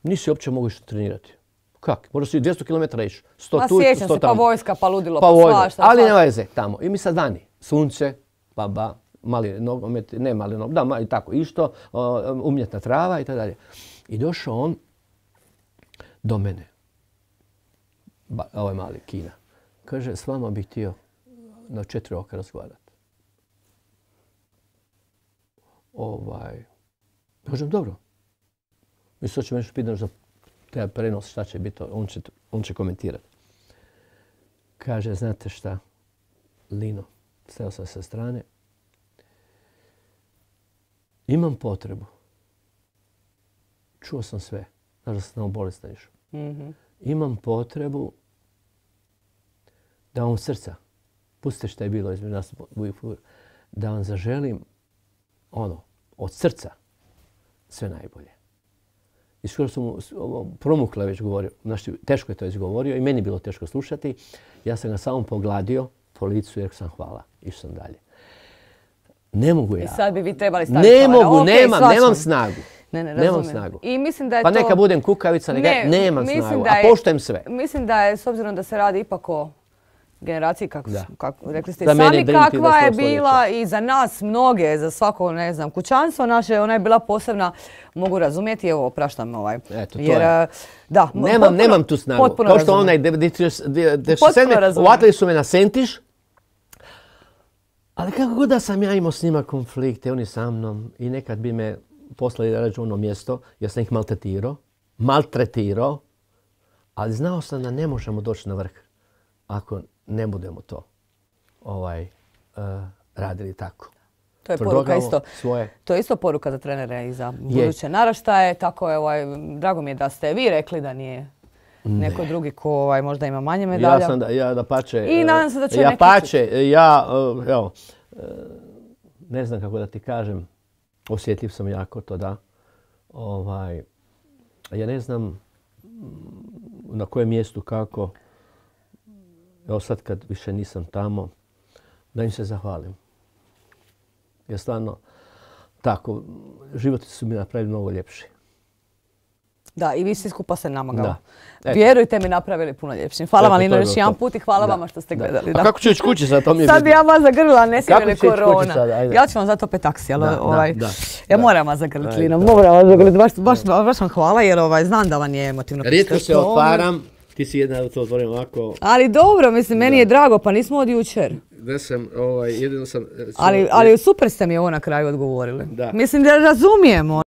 Nisi uopće mogu što trenirati. Kak? Možda si 200 km išao. 100 tu, 100 tamo. Sjećam se, pa vojska, pa ludilo, pa svašta. Ali nema veze tamo. I mi sad vani. Sunce, mali nogomet, ne mali nogomet, da, i tako išto, umjetna trava i tako dalje. I došao on do mene. Ovaj mali Kina. Kaže, s vama bih htio na 4 oka razgovarati. Kažem, dobro. Mi sad ćemo nešto pitati za taj prenos, šta će biti, on će komentirati. Kaže, znate šta, Lino, stajao sam sa strane, imam potrebu. Čuo sam sve, znaš da sam bolestan išao. Imam potrebu da vam srca, pustite šta je bilo između nas, da vam zaželim od srca sve najbolje. I skoro sam promukla već govorio, znači teško je to izgovorio i meni bilo teško slušati. Ja sam ga samo pogladio po licu i rekao sam hvala, išao sam dalje. Ne mogu ja. I sad bi vi trebali staviti Ne mogu, nemam snagu. Nemam snagu. I mislim da je pa neka budem kukavica, nemam snagu, a poštujem sve. Mislim da je, s obzirom da se radi ipak o generaciji, kako rekli ste sami, kakva je bila i za nas mnoge, za svako, ne znam, kućanstvo naše, ona je bila posebna, mogu razumjeti, evo, opraštam Eto, to je. Da, nemam tu snagu. Kao što onaj 97. uvatili su me na sentiš, ali kako god da sam ja imao s njima konflikte, oni sa mnom, i nekad bi me poslali da rađu ono mjesto, jer sam ih maltretirao, ali znao sam da ne možemo doći na vrh ako ne budemo to radili tako. To je poruka isto. To je isto poruka za trenere i za buduće naraštaje. Tako je, drago mi je da ste vi rekli da nije neko drugi ko možda ima manje medalja. Ja da pače. I nadam se da će ne znam kako da ti kažem, osjetljiv sam jako to da. Ja ne znam na kojem mjestu kako. Evo sad kad više nisam tamo, da im se zahvalim. Jer stvarno, tako, životi su mi napravili mnogo ljepši. Da, i vi svi skupa se namagali. Vjerujte mi, napravili puno ljepšim. Hvala vam, Lino, još jedan put i hvala vama što ste gledali. A kako ću ići kući sad, to mi je sad bi ja vas zagrlila, ne sjećali korona. Ja ću vam zato opet taksi, ali ja moram vas zagrliti, Lino, moram vas zagrliti. Baš vam hvala jer znam da vam je emotivno. Rijetko se otvaram, ti si jedna da to otvorim ovako. Ali dobro, mislim, meni je drago, pa nismo od jučer. Da sam, jedino sam... Ali super ste mi ovo na kraju odgovorili. Mislim da razumijemo.